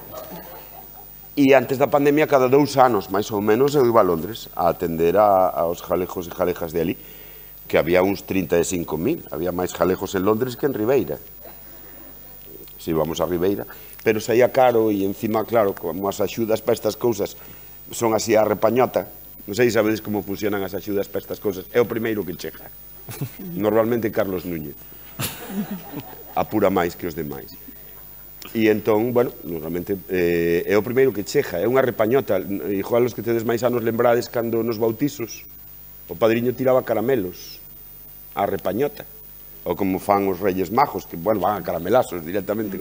E antes da pandemia, cada dous anos, máis ou menos, eu iba a Londres a atender a, aos jalejos e jalejas de ali, que había uns trinta e cinco mil, había máis jalejos en Londres que en Ribeira. Se íbamos a Ribeira, pero saía caro e encima, claro, como as axudas para estas cousas son así a repañota, non sei se sabedes como funcionan as axudas para estas cousas, é o primeiro que chega. Normalmente Carlos Núñez. Apura máis que os demais. E entón, bueno, normalmente eh, é o primeiro que chega, é unha repañota. Igual os que tedes máis anos lembrades cando nos bautizos o padriño tiraba caramelos a repañota. Ou como fan os Reyes Majos, que, bueno, van a caramelazos directamente.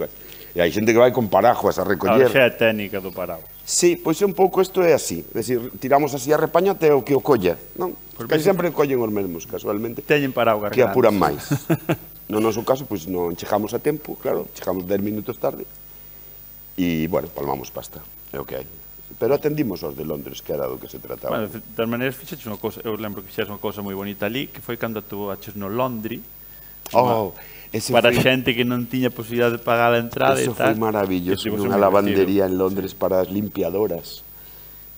E hai xente que vai con paraguas a recoller. A xa é técnica do paraguas. Sí, pois un pouco isto é así. É dicir, tiramos así a repañota e o que o colla, non? Porque sempre collen os mesmos, casualmente. Teñen paraguas que apuran máis. No noso caso, pois non chegamos a tempo, claro, chegamos dez minutos tarde. E, bueno, palmamos pasta, é o que hai. Pero atendimos aos de Londres, que era do que se trataba. Bueno, de todas maneiras, fixeches unha cousa, eu lembro que fixeches unha cousa moi bonita ali, que foi cando tú aches no Londri, oh, ese para foi, xente que non tiña posibilidade de pagar a entrada e eso tal. foi maravilloso, Eso nunha moi lavandería en Londres para as limpiadoras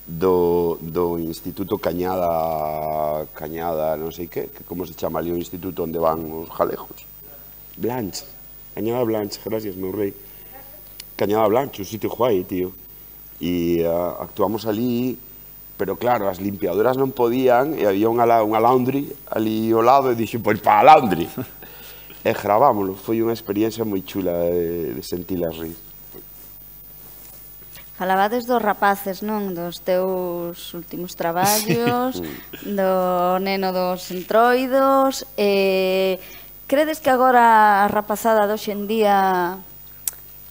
do, do Instituto Cañada, Cañada, non sei que, que como se chama ali o instituto onde van os jalejos. Blanche, Cañada Blanche, gracias, meu rei. Cañada Blanche, un sitio guai, tío. E uh, actuamos ali, pero claro, as limpiadoras non podían, e había unha, unha laundry ali ao lado, e dixo, pois para a laundry. E gravámoslo, foi unha experiencia moi chula de, de sentilas rir. Falabades dos rapaces, non? Dos teus últimos traballos, do neno dos entroidos. Eh, credes que agora a rapazada de hoxe en día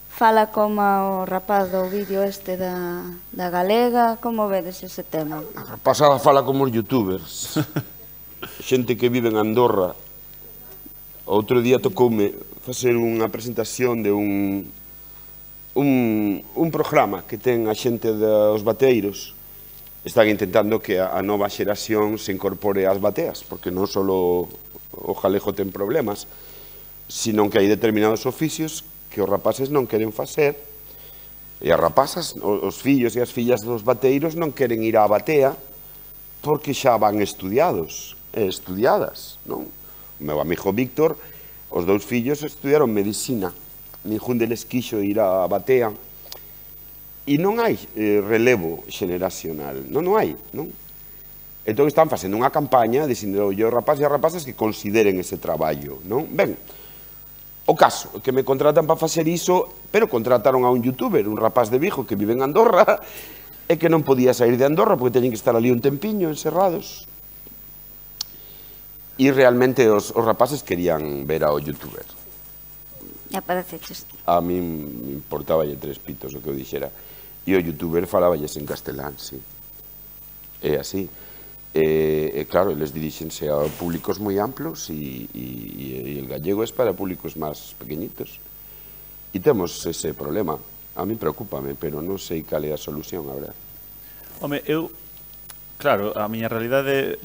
fala como o rapaz do vídeo este da, da Galega? Como vedes ese tema? A rapazada fala como os youtubers. Xente que vive en Andorra. Outro día tocoume facer unha presentación de un, un, un programa que ten a xente dos bateeiros. Están intentando que a, a nova xeración se incorpore ás bateas, porque non só o jalejo ten problemas, sino que hai determinados oficios que os rapaces non queren facer, e as rapazas, os fillos e as fillas dos bateeiros non queren ir á batea porque xa van estudiados e estudiadas, non? O meu amigo Víctor, os dous fillos estudiaron medicina, ningún deles quixo ir á batea, e non hai eh, relevo xeneracional, non, non hai, non? Entón están facendo unha campaña dicindo aos rapaces e as rapazas que consideren ese traballo, non? Ben, o caso, que me contratan para facer iso, pero contrataron a un youtuber, un rapaz de Vigo que vive en Andorra, e que non podía sair de Andorra porque teñen que estar ali un tempiño encerrados. E realmente os, os rapaces querían ver ao youtuber. E apareceches. A mí me importaba tres pitos o que eu dixera. E o youtuber falaballes en castelán, sí. É así. E, e claro, eles dirixense a públicos moi amplos e, e, e el gallego é para públicos máis pequeñitos. E temos ese problema. A mí preocúpame, pero non sei cal é a solución, a verdade. Home, eu, claro, a miña realidade,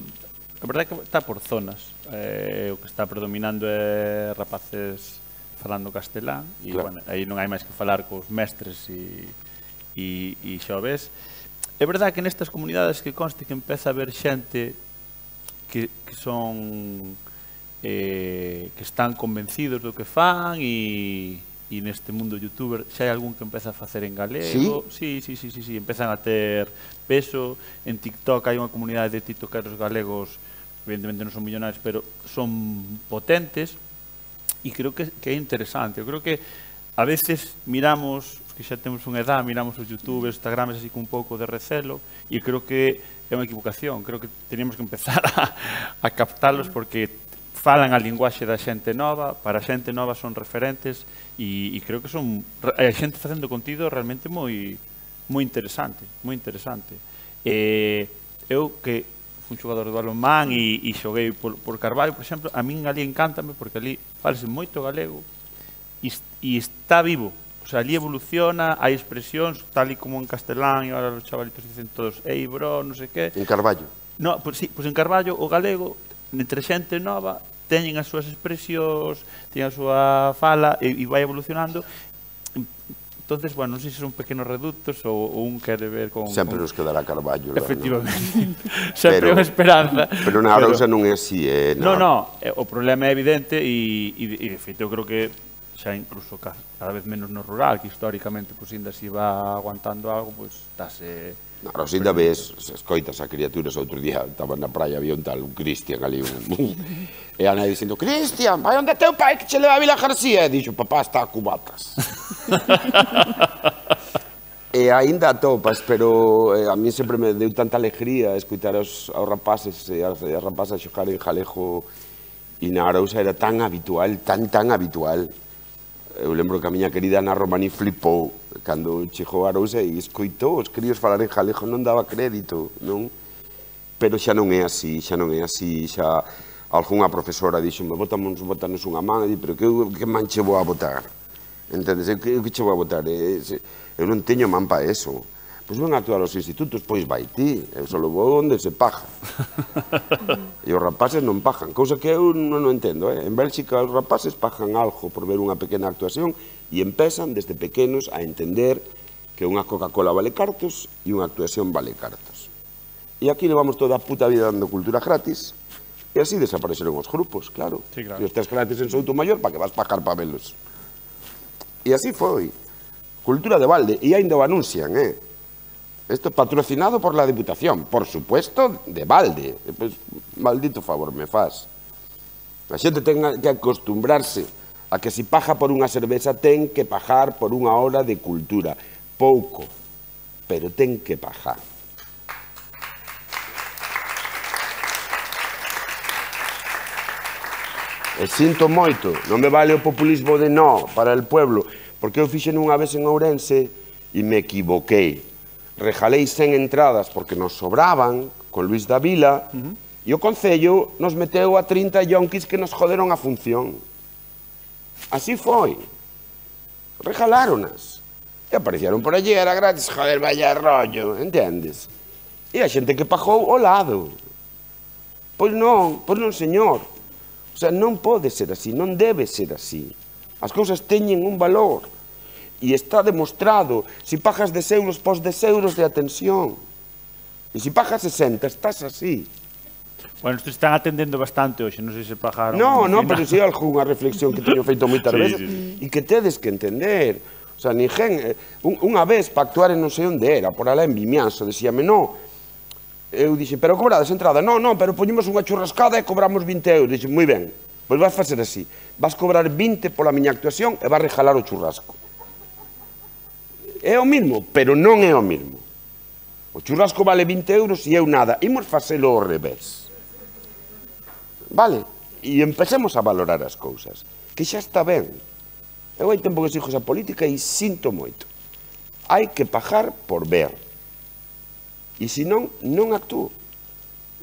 a verdade é que está por zonas. Eh, o que está predominando é rapaces falando castelán, e, claro, bueno, aí non hai máis que falar cos mestres e, e, e xa o ves. É verdade que nestas comunidades que conste que empeza a haber xente que, que son eh, que están convencidos do que fan e, e neste mundo youtuber xa hai algún que empeza a facer en galego. Sí, sí, sí, sí, sí, empezan a ter peso. En TikTok hai unha comunidade de tiktokeros galegos, evidentemente non son millonarios, pero son potentes e creo que, que é interesante. Eu creo que a veces miramos, que xa temos unha edad, miramos os youtubers, instagrams así con un pouco de recelo, e creo que é unha equivocación. Creo que teníamos que empezar a, a captalos porque falan a linguaxe da xente nova, para a xente nova son referentes, e, e creo que son a xente facendo contido realmente moi moi interesante, moi interesante. E eu que fui xogador de balonmán e, e xoguei por, por Carballo, por exemplo, a min ali encántame porque ali falase moito galego e, e está vivo O sea, ali evoluciona, hai expresións, tal e como en castelán, e agora os chavalitos dicen todos, ei, bro, non sei que. En Carballo. No, pues, sí, pues en Carballo, o galego, entre xente nova, teñen as súas expresións, teñen a súa fala, e, e vai evolucionando. Entonces, bueno, non sei se son pequenos reductos ou, ou un quere ver con... Sempre con... nos quedará Carballo. Efectivamente. Sempre unha esperanza. Pero na Arousa non é así, eh? Non, non, o problema é evidente e, e, e de feito, eu creo que xa incluso cada vez menos no rural, que históricamente, pois, ainda se va aguantando algo, pois, dáse... Na Arousa ainda ves, escoitas a criaturas, outro día estaba na praia, había un tal, un Cristian ali, un... e a nai dicindo, Cristian, vai onde teu pai que che leva a Vila García? E dixo, papá está a cubatas. E aínda atopas, pero eh, a mí sempre me deu tanta alegría escutar aos, aos rapaces e as, as rapazas xogar en Jalejo, e na Arousa era tan habitual, tan, tan habitual. Eu lembro que a miña querida Ana Romaní flipou cando chegou a Arousa e escoitou os críos falar en Jalejo, non daba crédito, non? Pero xa non é así, xa non é así, xa algunha profesora dixo-me, botamos, botanos unha man, e di, pero que, que man che vou a botar? Entendes? Eu que, que che vou a botar? Eu non teño man pa eso. Pois ven a actuar aos institutos, pois vai ti, eu só vou onde se paja. E os rapaces non pajan, cousa que eu non entendo, eh? En Bélxica os rapaces pajan algo por ver unha pequena actuación e empezan desde pequenos a entender que unha Coca-Cola vale cartos e unha actuación vale cartos. E aquí levamos toda a puta vida dando cultura gratis e así desapareceron os grupos, claro. Sí, claro. Se os tes gratis en Soutomaior, para que vas pajar pa velos? E así foi. Cultura de balde, e ainda o anuncian, eh? Esto es patrocinado por la Diputación, por supuesto, de balde. Pues, maldito favor me faz. A xente ten que acostumbrarse a que si paja por unha cerveza ten que pajar por unha hora de cultura. Pouco, pero ten que pajar. E sinto moito, non me vale o populismo de no para el pueblo, porque eu fixen unha vez en Ourense e me equivoquei. Rejalei cen entradas porque nos sobraban con Luis Davila uh-huh. e o Concello nos meteu a trinta yonquis que nos joderon a función. Así foi. Rejaláronas. E aparecieron por allí, era gratis, joder, vaya rollo, entendes? E a xente que pagou ao lado. Pois non, pois non, señor. O sea, non pode ser así, non debe ser así. As cousas teñen un valor. E está demostrado, se pagas dez euros, pos dez euros de atención. E se pagas sesenta, estás así. Bueno, estes están atendendo bastante hoxe, non sei se pagaron... No, no, pero si é algunha reflexión que teño feito moitas sí, veces sí, sí. e que tedes que entender. O sea, ninguén... Un, unha vez, para actuar en non sei onde era, por alá en Vimianzo, decíame, no, eu dixen, pero cobrades entrada? No, no, pero poñemos unha churrascada e cobramos vinte euros. Dixen, moi ben, pois vas facer así. Vas cobrar vinte pola miña actuación e vas rejalar o churrasco. É o mismo, pero non é o mismo. O churrasco vale vinte euros e eu nada. Imos facelo ao revés. Vale? E empecemos a valorar as cousas. Que xa está ben. Eu hai tempo que sigo esa política e sinto moito. Hai que pagar por ver. E se non, non actúo.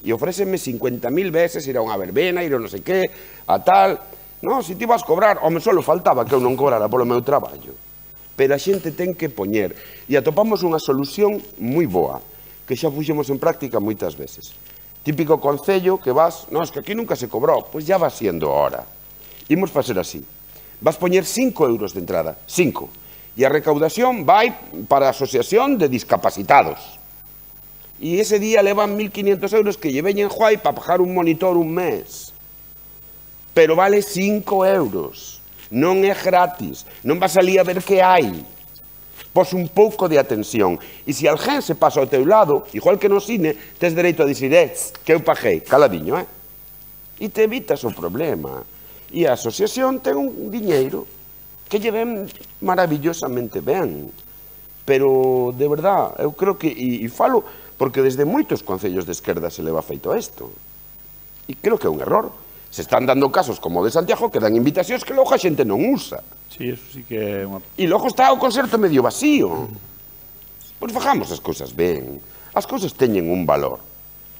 E ofrécenme cincuenta mil veces ir a unha verbena, ir a non sei que, a tal... Non, se ti vas cobrar, home, só faltaba que eu non cobrara polo meu traballo. Pero a xente ten que poñer. E atopamos unha solución moi boa, que xa puxemos en práctica moitas veces. Típico concello que vas, non, es que aquí nunca se cobrou, pois ya va siendo hora. Imos facer así. Vas poñer cinco euros de entrada, cinco. E a recaudación vai para a Asociación de Discapacitados. E ese día levan mil quinientos euros que lle veñen Juai para pagar un monitor un mes. Pero vale cinco euros. Non é gratis, non vas ali a ver que hai. Pos un pouco de atención. E se alguén se pasa ao teu lado, igual que no cine, tes dereito a dicir, eh, que eu paguei, caladiño, eh? E te evitas o problema. E a asociación ten un diñeiro que lle ven maravillosamente ben. Pero, de verdad, eu creo que, e, e falo, porque desde moitos concellos de esquerda se leva feito isto. E creo que é un error. Se están dando casos como o de Santiago que dan invitacións que logo a xente non usa. Sí, eso sí que é unha... E logo está o concerto medio vacío. Pois fajamos as cousas ben. As cousas teñen un valor.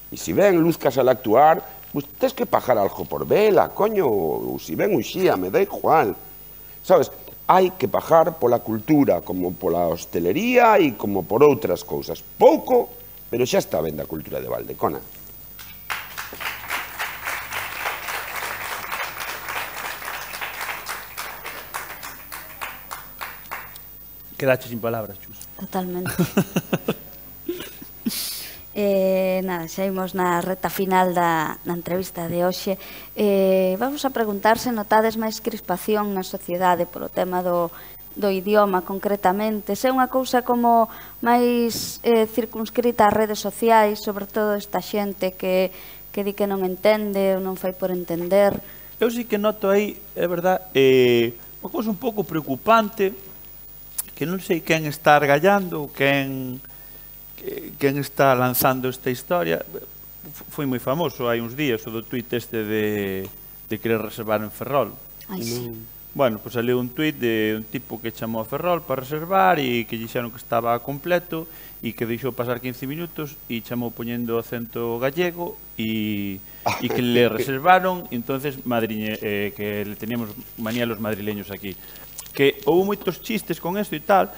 E se ven Luz Casal actuar, pois tes que pagar algo por vela, coño, ou se ven un xía, me da igual. Sabes, hai que pagar pola cultura, como pola hostelería e como por outras cousas. Pouco, pero xa está ben da cultura de Valdecona. Quedache sin palabras, Chus. Totalmente. Eh, nada, xa imos na reta final da, da entrevista de hoxe. Eh, vamos a preguntar se notades máis crispación na sociedade polo tema do, do idioma concretamente, se é unha cousa como máis eh, circunscrita ás redes sociais, sobre todo esta xente que, que di que non entende ou non fai por entender. Eu sí que noto aí, é verdad, eh, unha cousa un pouco preocupante, que non sei quen está argallando, quen... quen está lanzando esta historia. Foi moi famoso hai uns días o do tuit este de, de querer reservar en Ferrol. Ai, sí. Bueno, pois saliu un tuit de un tipo que chamou a Ferrol para reservar e que dixeron que estaba completo e que deixou pasar quince minutos e chamou poñendo acento gallego e, e que le reservaron e entonces madriñe, eh, que le teníamos manía los madrileños aquí. Que houve moitos chistes con esto e tal,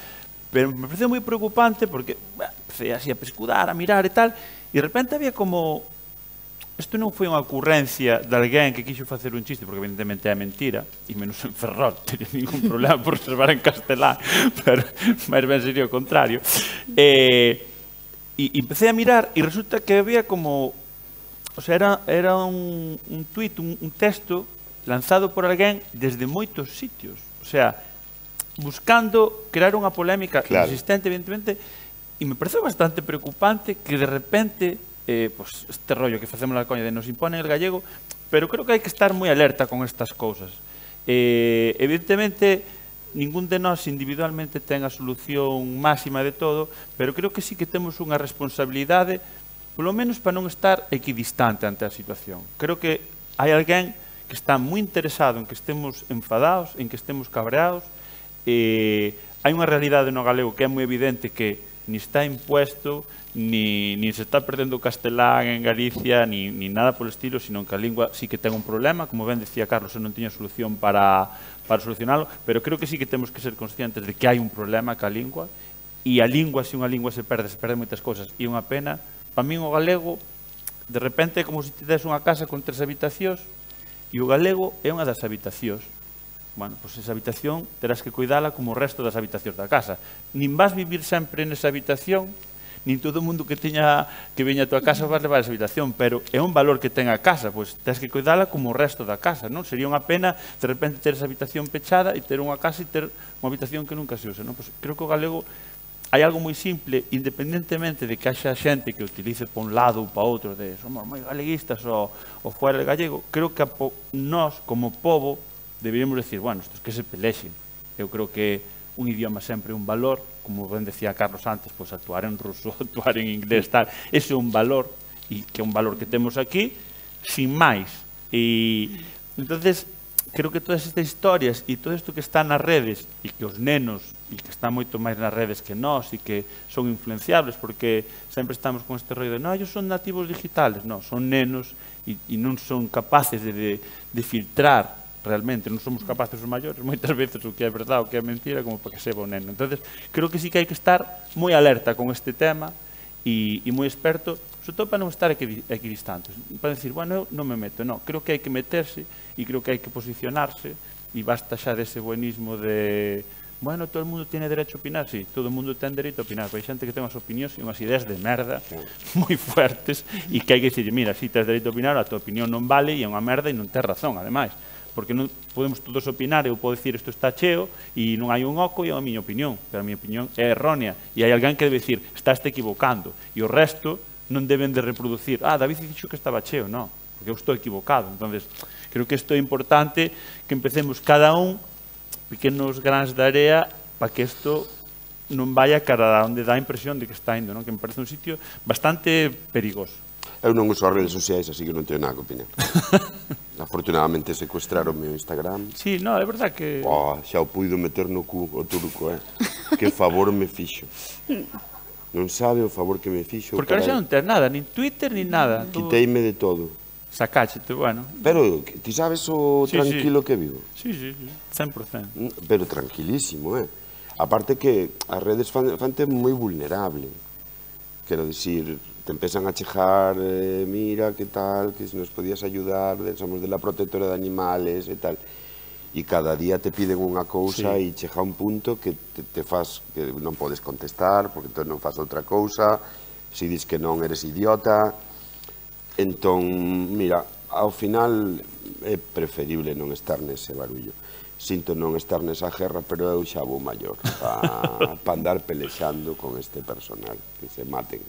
pero me pareceu moi preocupante porque bah, empecé así a pescudar, a mirar e tal, e de repente había como... Isto non foi unha ocurrencia de alguén que quixo facer un chiste, porque evidentemente é mentira, e menos en Ferrol, teria ningún problema por reservar en castelán, pero máis ben sería o contrario. E, e empecé a mirar e resulta que había como... O sea, era, era un, un tuit, un, un texto lanzado por alguén desde moitos sitios. O sea, buscando crear unha polémica claro. Insistente, evidentemente, e me pareceu bastante preocupante que de repente, eh, pues, este rollo que facemos la coña de nos imponen el gallego, pero creo que hai que estar moi alerta con estas cousas. Eh, evidentemente, ningún de nós individualmente ten a solución máxima de todo, pero creo que sí que temos unha responsabilidade, polo menos para non estar equidistante ante a situación. Creo que hai alguén que está moi interesado en que estemos enfadados, en que estemos cabreados. Eh, hai unha realidade no galego que é moi evidente que ni está impuesto, ni, ni se está perdendo o castelán en Galicia, ni, ni nada polo estilo, sino que a lingua sí que ten un problema, como ben decía Carlos, eu non tiña solución para, para solucionalo, pero creo que sí que temos que ser conscientes de que hai un problema ca lingua, e a lingua, se unha lingua se perde, se perde moitas cousas, e unha pena. Para min o galego, de repente é como se te des unha casa con tres habitacións, e o galego é unha das habitacións. Bueno, pois esa habitación terás que cuidala como o resto das habitacións da casa. Nin vas vivir sempre nesa habitación, nin todo o mundo que teña que veña a tua casa vas levar esa habitación, pero é un valor que ten a casa, pois tens que cuidala como o resto da casa, non? Sería unha pena de repente ter esa habitación pechada e ter unha casa e ter unha habitación que nunca se use, non? Pois creo que o galego hai algo moi simple, independentemente de que haxa xente que utilice para un lado ou para outro, de somos moi galeguistas ou, ou fuera de gallego, creo que nós, como povo, deberíamos decir, bueno, estos que se pelexen. Eu creo que un idioma sempre é un valor, como ben decía Carlos antes, pois actuar en ruso, actuar en inglés, tal, ese é un valor, e que é un valor que temos aquí, sin máis. E, entonces, creo que todas estas historias e todo isto que está nas redes, e que os nenos, e que están moito máis nas redes que nós, e que son influenciables, porque sempre estamos con este rollo de, no, ellos son nativos digitales, non, son nenos, e, e non son capaces de, de, de filtrar realmente, non somos capaces os maiores moitas veces o que é verdade, o que é mentira, como para que seba o neno. Entonces, creo que sí que hai que estar moi alerta con este tema e, e moi experto, sobre todo para non estar equidistantes, para decir, bueno, eu non me meto, non, creo que hai que meterse e creo que hai que posicionarse e basta xa dese buenismo de, bueno, todo o mundo tiene derecho a opinar, sí, todo o mundo ten dereito a opinar, pero hai xente que ten unhas opinións e unhas ideas de merda moi fuertes e que hai que dicir, mira, si tens dereito a opinar, a tua opinión non vale e é unha merda e non tens razón, ademais. Porque non podemos todos opinar, eu podo dicir isto está cheo e non hai un oco e é a miña opinión, pero a miña opinión é errónea e hai alguén que debe dicir, estás te equivocando e o resto non deben de reproducir, ah, David dixo que estaba cheo, non, porque eu estou equivocado. Entonces, creo que isto é importante que empecemos cada un pequenos grans de area para que isto non vaya cara a onde dá a impresión de que está indo, non? Que me parece un sitio bastante perigoso. Eu non uso as redes sociais, así que non teño nada que opinar. Afortunadamente secuestraron o meu Instagram. Sí, no, é verdad que... Oh, xa o puido meter no cu o turco, eh? Que favor me fixo. Non sabe o favor que me fixo. Porque ahora xa non tens nada, nin Twitter, nin nada. Quiteime de todo. Sacáchete, bueno. Pero, ti sabes o Sí, tranquilo sí. que vivo? Sí, sí, sí, cen por cento. Pero tranquilísimo, eh? Aparte que as redes fan, fante moi vulnerable. Quero dicir, te empezan a chejar, eh, mira, que tal, que se nos podías ayudar, somos de la protectora de animales e tal. E cada día te piden unha cousa Sí. e chega un punto que te, te faz, que non podes contestar, porque entón non faz outra cousa, se dis que non eres idiota. Entón, mira, ao final é preferible non estar nese barullo. Sinto non estar nesa guerra, pero eu xa vou maior para pa andar pelexando con este personal, que se maten.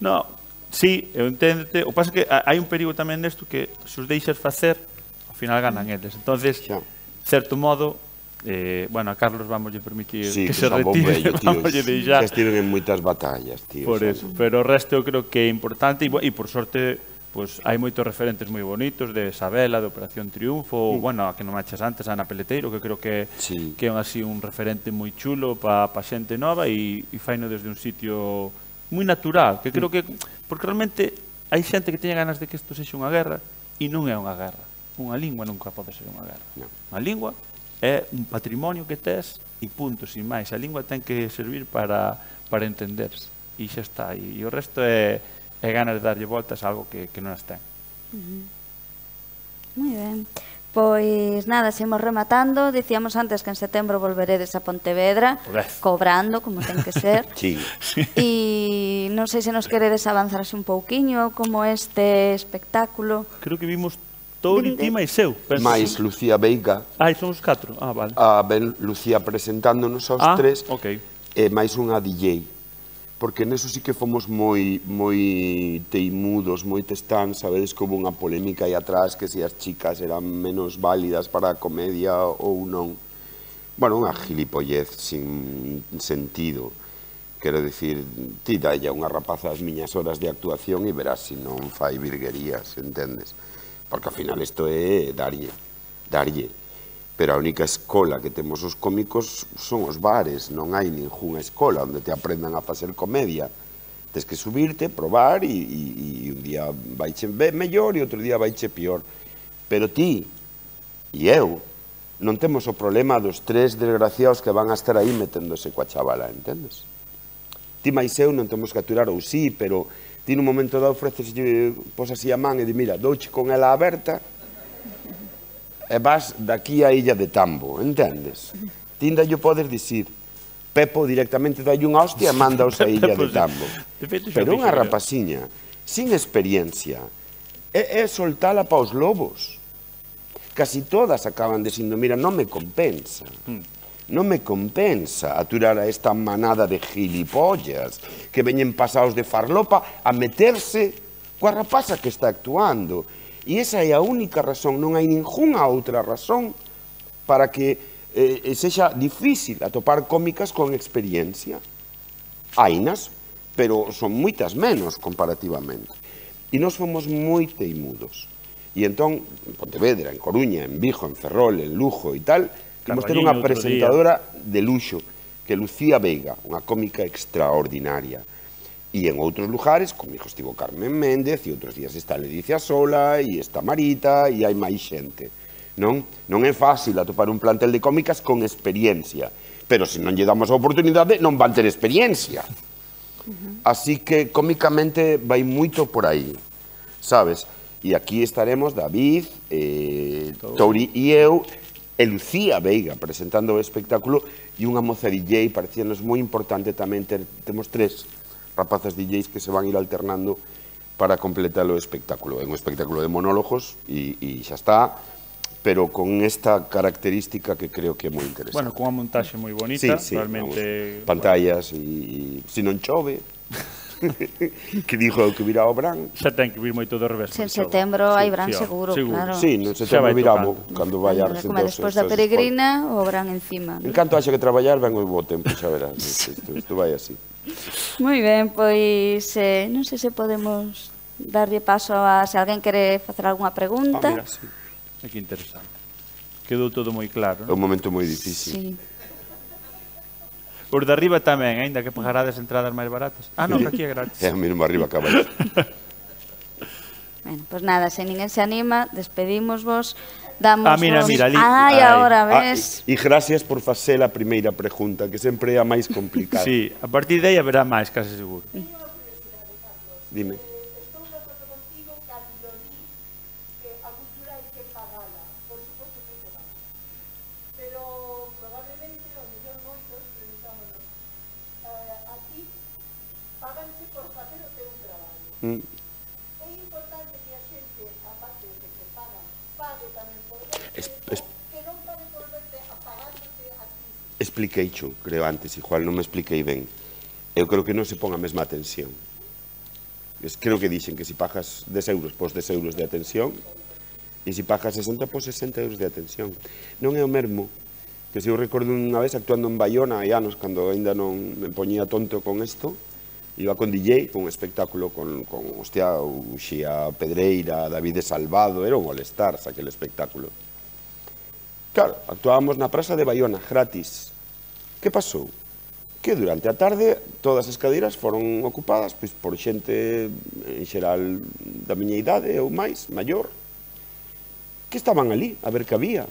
No, sí, eu enténdete. O que pasa é que hai un perigo tamén nesto que se os deixas facer, ao final ganan eles. Entonces, Xa. certo modo, eh, bueno, a Carlos vamos lle permitir Sí, que, que se xa vou retire, vello, tío. vamos lle deixar. Xa estiven en moitas batallas, tío. Por xa. eso, pero o resto eu creo que é importante e, bo- e por sorte pues, hai moitos referentes moi bonitos de Sabela, de Operación Triunfo, ou, bueno, a que non machas antes, Ana Peleteiro, que creo que, Sí. que é un, así un referente moi chulo para pa xente nova e, e faino desde un sitio moi natural, que creo que, porque realmente hai xente que teña ganas de que isto sexa unha guerra e non é unha guerra. Unha lingua nunca pode ser unha guerra. Non. Unha lingua é un patrimonio que tes e punto, sin máis. A lingua ten que servir para, para entenderse e xa está. E, e o resto é, é ganas de darlle voltas a algo que, que non as ten. Moi ben. Pois nada, seguimos rematando. Dicíamos antes que en setembro volveredes a Pontevedra, Podez. cobrando, como ten que ser. Sí. E non sei se nos queredes avanzar así un pouquiño como este espectáculo. Creo que vimos Touri, Vinde. Tima e Seu. penso. Mais Lucía Veiga, Ai, son os catro. Ah, vale. a ben Lucía presentándonos aos Ah, tres, ok. e máis unha D J. Porque neso sí que fomos moi moi teimudos, moi testán, sabedes que houve unha polémica aí atrás que se as chicas eran menos válidas para a comedia ou non. Bueno, unha gilipollez sin sentido. Quero dicir, ti dalle a unha rapaza as miñas horas de actuación e verás se non fai virguerías, entendes? Porque ao final isto é darlle, darlle. Pero a única escola que temos os cómicos son os bares, non hai ningunha escola onde te aprendan a facer comedia. Tens que subirte, probar e, e, e un día vaiche mellor e outro día vaiche pior. Pero ti e eu non temos o problema dos tres desgraciados que van a estar aí meténdose coa chavala, entendes? Ti máis eu non temos que aturar ou sí, pero ti nun momento dado ofreces, pos así a man e di, mira, douche con ela aberta e vas daqui á illa de Tambo, entendes? Ti ainda lle podes dicir, Pepo directamente dalle unha hostia e mandaos a illa de Tambo. De feito, xa Pero unha fixo, rapaciña, sin experiencia, é, é soltala pa os lobos. Casi todas acaban dicindo, mira, non me compensa. Non me compensa aturar a esta manada de gilipollas que veñen pasados de farlopa a meterse coa rapaza que está actuando. E esa é a única razón, non hai ningunha outra razón para que eh, sexa difícil atopar cómicas con experiencia. Hainas, pero son moitas menos comparativamente. E nós fomos moi teimudos. E entón, en Pontevedra, en Coruña, en Vigo, en Ferrol, en Lugo e tal, temos ter unha Carballiño outro presentadora de luxo, que é Lucía Veiga, unha cómica extraordinaria. E en outros lugares, comigo estivo Carmen Méndez, e outros días está Ledicia Sola, e está Marita, e hai máis xente. Non? Non é fácil atopar un plantel de cómicas con experiencia, pero se non lle damos a oportunidade, non van ter experiencia. Así que, cómicamente, vai moito por aí, sabes? E aquí estaremos David, eh, Touri e eu, e Lucía Veiga presentando o espectáculo, e unha moza D J, parecíanos moi importante tamén ter, temos tres rapazas D Js que se van a ir alternando para completar o espectáculo. É un espectáculo de monólogos e, e xa está, pero con esta característica que creo que é moi interesante. Bueno, con unha montaxe moi bonita, sí, sí, realmente... vamos, pantallas e, e se non chove, que dixo que virá o Bran. Xa ten que vir moito do revés. En setembro hai Bran seguro, claro. Sí, no setembro viramo, cando vai a Como despois da peregrina, o Bran encima. En canto haxa que traballar, ven o bo tempo, xa verás. Isto, isto vai así. Moi ben, pois eh, non sei se podemos darlle paso a se alguén quere facer algunha pregunta. Ah, mira, sí. É que interesante. Quedou todo moi claro. É un momento moi difícil. Sí. Os de arriba tamén, aínda que pagarades entradas máis baratas. Ah, non, que aquí é gratis. É o mesmo arriba que abaixo. Bueno, pois nada, se ninguén se anima, despedimos vos, damos Ah, mira, vos... mira, ali. Ai, Ai. agora, Ah, ves? e gracias por facer a primeira pregunta, que sempre é a máis complicada. Sí, a partir de aí haberá máis, case seguro. Dime. Estou de acordo contigo cando di que a cultura hai que pagala, por suposto que hai que pagala. Pero probablemente, o mellor moitos, preguntámonos, eh, a ti paganse por facer o teu traballo. Mm. É importante que a xente, aparte de que te pagan, pague tamén por verte, Es, es, que non pague por verte apagándote a ti. expliquei xo, creo antes, igual non me expliquei ben. Eu creo que non se pon a mesma atención. Es, creo que dixen que se pagas dez euros, pos dez euros de atención, e se pagas sesenta, pos sesenta euros de atención. Non é o mesmo que se eu recordo unha vez actuando en Bayona, hai anos, cando ainda non me poñía tonto con isto, iba con D J, con un espectáculo con, con hostia, Uxía Pedreira, David de Salvado, era un all-star aquel espectáculo. Claro, actuábamos na praza de Bayona, gratis. Que pasou? Que durante a tarde todas as cadeiras foron ocupadas pois, por xente en xeral da miña idade ou máis, maior, que estaban ali a ver que había.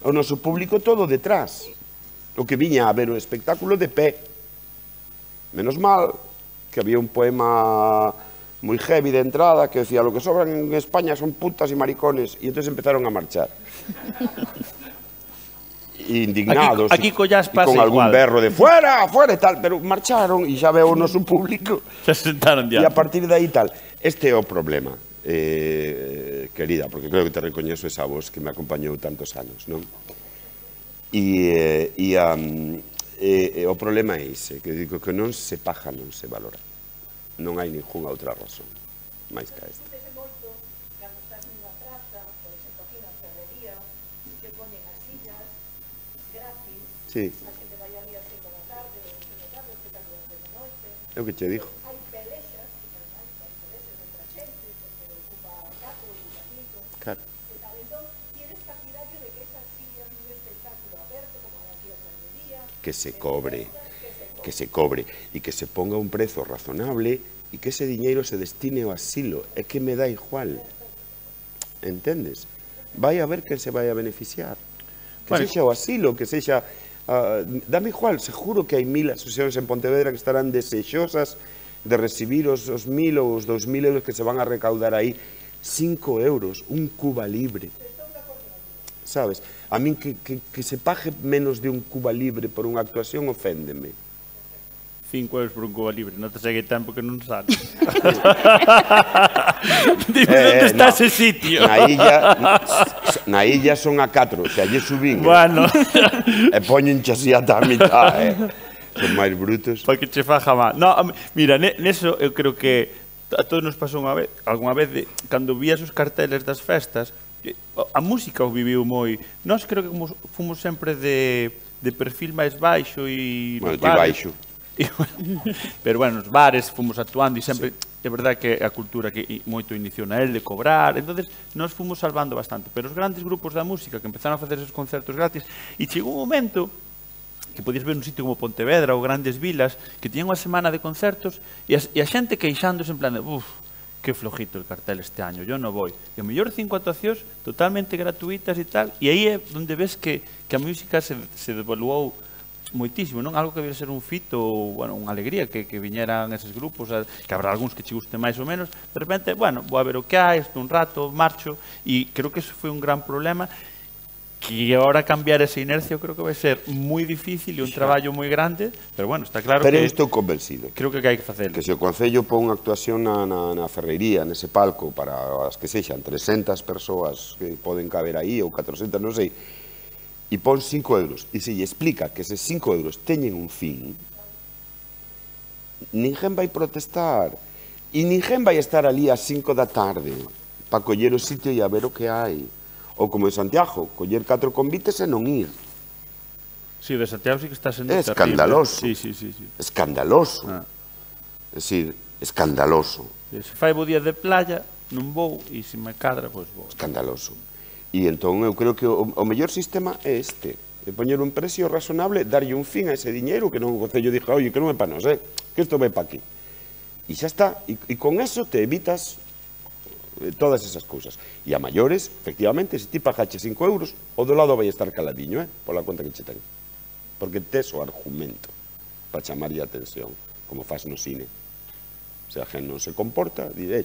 O noso público todo detrás, o que viña a ver o espectáculo de pé. Menos mal que había un poema moi heavy de entrada que decía: lo que sobran en España son putas y maricones, e entón empezaron a marchar. Indignados, Aquí- aquí collas e pasa con algún igual. berro de fuera, fuera e tal, pero marcharon e xa veo o noso público Se sentaron e ya. a partir de aí tal. Este é o problema, eh, querida, porque creo que te recoñezo esa voz que me acompañou tantos anos, non? E, e, um, e, e o problema é ese, que digo que non se paga, non se valora. Non hai ninguna outra razón máis que esta. Vese moito cando estás nunha praza, por exemplo, aquí na ferrería, que poñen as sillas gratis, Sí, a xente vai ali a cinco da tarde, ou seis da tarde, o espectáculo a seis da noite. é o que che digo. Hai pelexas, que ademais hai pelexas entre a xente, porque ocupa catro, ocupa cinco, Claro. e tal. Entón, tienes partidario de que esas sillas nun espectáculo aberto, como aquí a ferrería, Que se cobre, que se cobre e que se ponga un prezo razonable e que ese diñeiro se destine ao asilo. É que me dá igual. Entendes? Vai a ver quen se vai a beneficiar. Que Bueno. sexa o asilo, que sexa... Uh, dame igual, seguro que hai mil asociacións en Pontevedra que estarán desexosas de recibir os, os mil ou os dos mil euros que se van a recaudar aí. Cinco euros, un Cuba Libre. Sabes? A min que, que, que se pague menos de un Cuba Libre por unha actuación oféndeme. Cinco euros por un Cuba Libre, non te segue tempo que non sale. Dime, Eh, onde está no. ese sitio? Na illa, na illa son a catro, se allí subín, eh, Bueno, e poñen así ata a mitad, eh. Son máis brutos. para que che faja má. No, a mí- mira, ne- neso eu creo que a todos nos pasou unha vez, algunha vez de, cando vías os carteles das festas, que a música o viviu moi. Nós creo que como fomos sempre de, de perfil máis baixo e Bueno, nos ti bares- baixo. E, bueno, pero bueno, nos bares fomos actuando e sempre, é verdad que a cultura que i- moito inició na el de cobrar, entonces nos fomos salvando bastante, pero os grandes grupos da música que empezaron a facer esos concertos gratis, e chegou un momento que podías ver un sitio como Pontevedra ou grandes vilas que tiñan unha semana de concertos e, as, e a xente queixándose en plan de uff, que flojito el cartel este año, yo no voy. E o mellor cinco actuacións totalmente gratuitas e tal, e aí é onde ves que, que a música se, se devaluou moitísimo, non? Algo que debe ser un fito ou, bueno, unha alegría que, que viñeran eses grupos, a, que habrá algúns que che gusten máis ou menos, de repente, bueno, vou a ver o que hai, estou un rato, marcho, e creo que eso foi un gran problema, que agora cambiar esa inercia eu creo que vai ser moi difícil e un traballo moi grande, pero bueno, está claro Pero eu que estou convencido creo que hai que facelo. que se o Concello pon unha actuación na, na, na ferrería, nese palco, para as que sexan trescentas persoas que poden caber aí, ou catrocentas, non sei, e pon cinco euros, e se lle explica que eses cinco euros teñen un fin, ninguén vai protestar, e ninguén vai estar ali ás cinco da tarde para coller o sitio e a ver o que hai. Ou como en Santiago, coller catro convites e non ir. Sí, o de Santiago sí que está sendo É terrible. escandaloso. Sí, sí, sí, sí. Escandaloso. Ah. É dicir, escandaloso. Se fai bo día de playa, non vou, e se me cadra, pois vou. Escandaloso. E entón eu creo que o, o mellor sistema é este, de poñer un precio razonable, darlle un fin a ese diñeiro, que non o Concello diga, oye, que non é para nós, eh? Que isto vai para aquí. E xa está, e, e con eso te evitas eh, todas esas cousas. E a maiores, efectivamente, se ti pagache cinco euros, o do lado vai estar caladiño, eh, pola conta que che ten. Porque tes o argumento para chamarlle a atención, como faz no cine. Se a gente non se comporta, diré,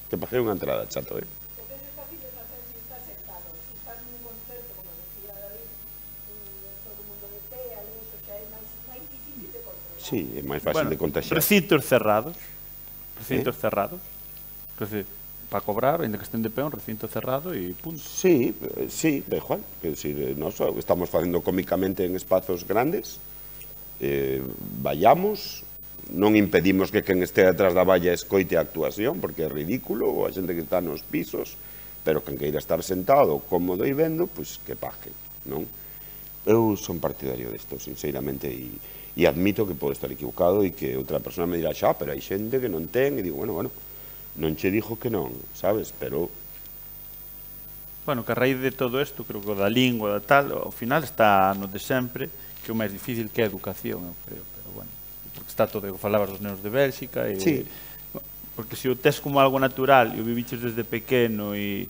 te paguei unha entrada, chato, eh? Entonces es fácil de hacer si estás sentado. Si estás en un concerto, como decía David, todo el mundo de pea y eso, xa é máis, máis difícil de controlar. Sí, é máis fácil Bueno, de contagiar. recintos cerrados, recintos ¿Eh? cerrados, que decir, para cobrar, ainda que estén de pé, un recinto cerrado e punto. Sí, eh, sí, da igual. Quer decir, nós estamos facendo cómicamente en espazos grandes, eh, vayamos, non impedimos que quen este atrás da valla escoite a actuación, porque é ridículo, ou a xente que está nos pisos, pero quen queira estar sentado, cómodo e vendo, pois que pague, non? Eu son partidario desto, sinceramente, e, e admito que podo estar equivocado e que outra persona me dirá, xa, pero hai xente que non ten, e digo, bueno, bueno, non che dixo que non, sabes, pero... Bueno, que a raíz de todo isto, creo que o da lingua, da tal, ao final está no de sempre, que o máis difícil que é a educación, eu creo, pero bueno, porque está todo, falabas dos nenos de Bélxica, e, Sí. porque se o tes como algo natural, e o viviches desde pequeno, e,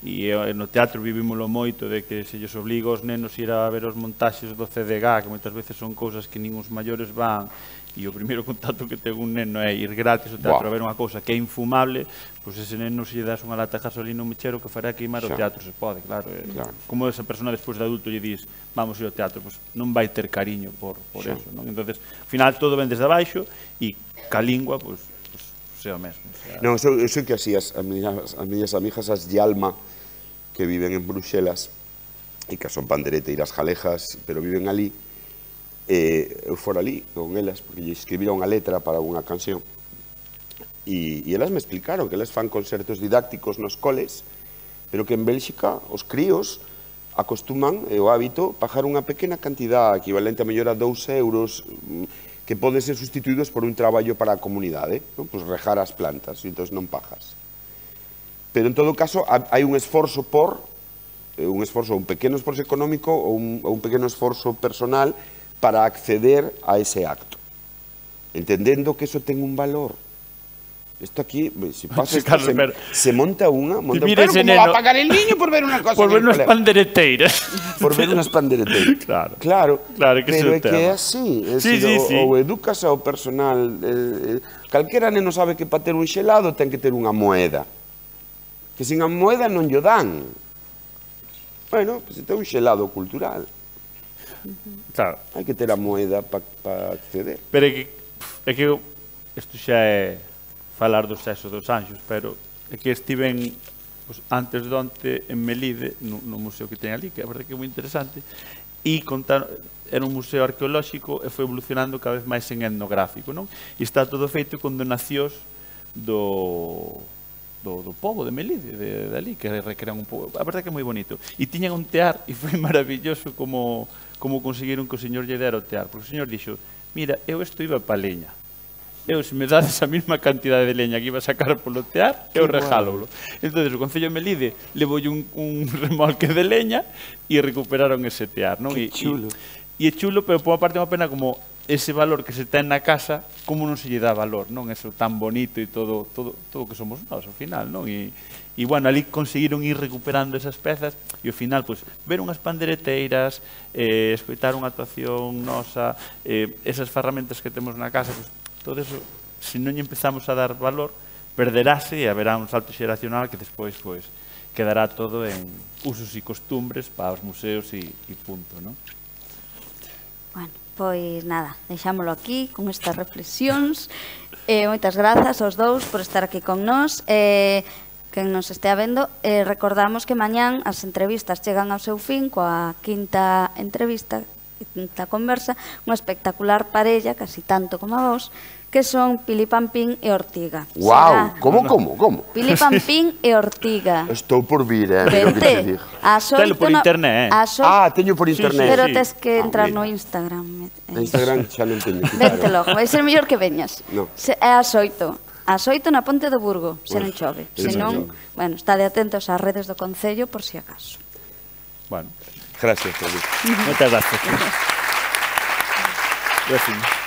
e no teatro vivimoslo moito, de que se lles obliga aos nenos ir a ver os montaxes do C D G, que moitas veces son cousas que nin os maiores van, e o primeiro contacto que ten un neno é ir gratis ao teatro Buah. a ver unha cousa que é infumable, pois ese neno se lle das unha lata de gasolina ao mechero que fará queimar o Xa. teatro, se pode, claro. eh, Claro. Como esa persona despois de adulto lle dis, vamos ir ao teatro, pois non vai ter cariño por, por Xa. eso, non? Entonces, ao final todo ven desde abaixo e ca lingua, pois, pois, sea o mesmo. O sea, Non, eu, eu sei que así as, as, miñas, as miñas amigas, as de Alma, que viven en Bruxelas, e que son pandereteiras jalejas, pero viven ali, eh, eu fora ali con elas, porque lle escribira unha letra para unha canción, e, e elas me explicaron que elas fan concertos didácticos nos coles, pero que en Bélxica os críos acostuman, é o hábito, pagar unha pequena cantidad equivalente a mellor a dous euros, mm, que poden ser sustituídos por un traballo para a comunidade, non? Pois rejar as plantas, e entón non pagas. Pero en todo caso hai un esforzo por, eh, un esforzo, un pequeno esforzo económico ou un, ou un pequeno esforzo personal para acceder a ese acto, entendendo que eso ten un valor. Isto aquí, se pasa, esto, Carlos, se, pero- se monta unha, monta, mira pero ese como va neno- a pagar el niño por ver unha cosa por ver en el unhas colegio? pandereteiras. Por ver unhas pandereteiras. Claro. Claro, Claro, que ese é pero o é que tema. é así, é Sí, dicir, sí, sí. ou, ou educas ao personal, eh, eh, calquera neno sabe que para ter un xelado ten que ter unha moeda, que sin a moeda non lle dan. Bueno, pues ten un xelado cultural, Claro. hai que ter a moeda para pa acceder. Pero é que, é que eu- isto xa é falar do sexo dos anxos, pero é que estiven pues, antes de onte en Melide, no, no museo que ten ali, que a verdade que é moi interesante, e contar, era un museo arqueolóxico e foi evolucionando cada vez máis en etnográfico, non? E está todo feito con donacións do do, do pobo de Melide, de, de ali, que recrean un pouco. A verdade que é moi bonito. E tiñan un tear, e foi maravilloso como, como conseguiron que o señor lle dera o tear. Porque o señor dixo, mira, eu isto iba pa leña. Eu, se me dades a mesma cantidade de leña que iba a sacar polo tear, eu regálolo. Entón, o Concello de Melide levou un, un remolque de leña e recuperaron ese tear, non? Que E- chulo. E, e é chulo, pero por unha parte é unha pena como ese valor que se ten na casa, como non se lle dá valor, non? Eso tan bonito e todo todo todo o que somos nós, ao final, non? E, e bueno, ali conseguiron ir recuperando esas pezas e ao final, pois, ver unhas pandereteiras, eh, escoitar unha actuación nosa, eh, esas ferramentas que temos na casa, pois, todo eso, se non lle empezamos a dar valor, perderase e haberá un salto xeracional que despois, pois, quedará todo en usos e costumbres para os museos e, e punto, non? Bueno, pois nada, deixámolo aquí con estas reflexións. Eh, moitas grazas aos dous por estar aquí con nós. Eh, quen nos estea vendo, eh, recordamos que mañán as entrevistas chegan ao seu fin coa quinta entrevista, quinta conversa, unha espectacular parella, casi tanto como a vos, que son Pili Pampín e Ortiga. Guau, como, como, como? Pili Pampín e Ortiga. Estou por vir, eh, mira o que te Vente, digo. ás Telo oito por na- internet, eh. ás oito- Ah, teño por Sí, internet. Pero sí. tes que Ah, entrar mira. no Instagram. Na Instagram xa non teño que Vente logo, vai ser mellor que veñas. No. Se, é ás oito. Ás oito na Ponte do Burgo, se Bueno, non chove. eso Se non, non. bueno, estade atentos ás redes do Concello por si acaso. Bueno, Gracias, Felipe. moitas gracias. Gracias.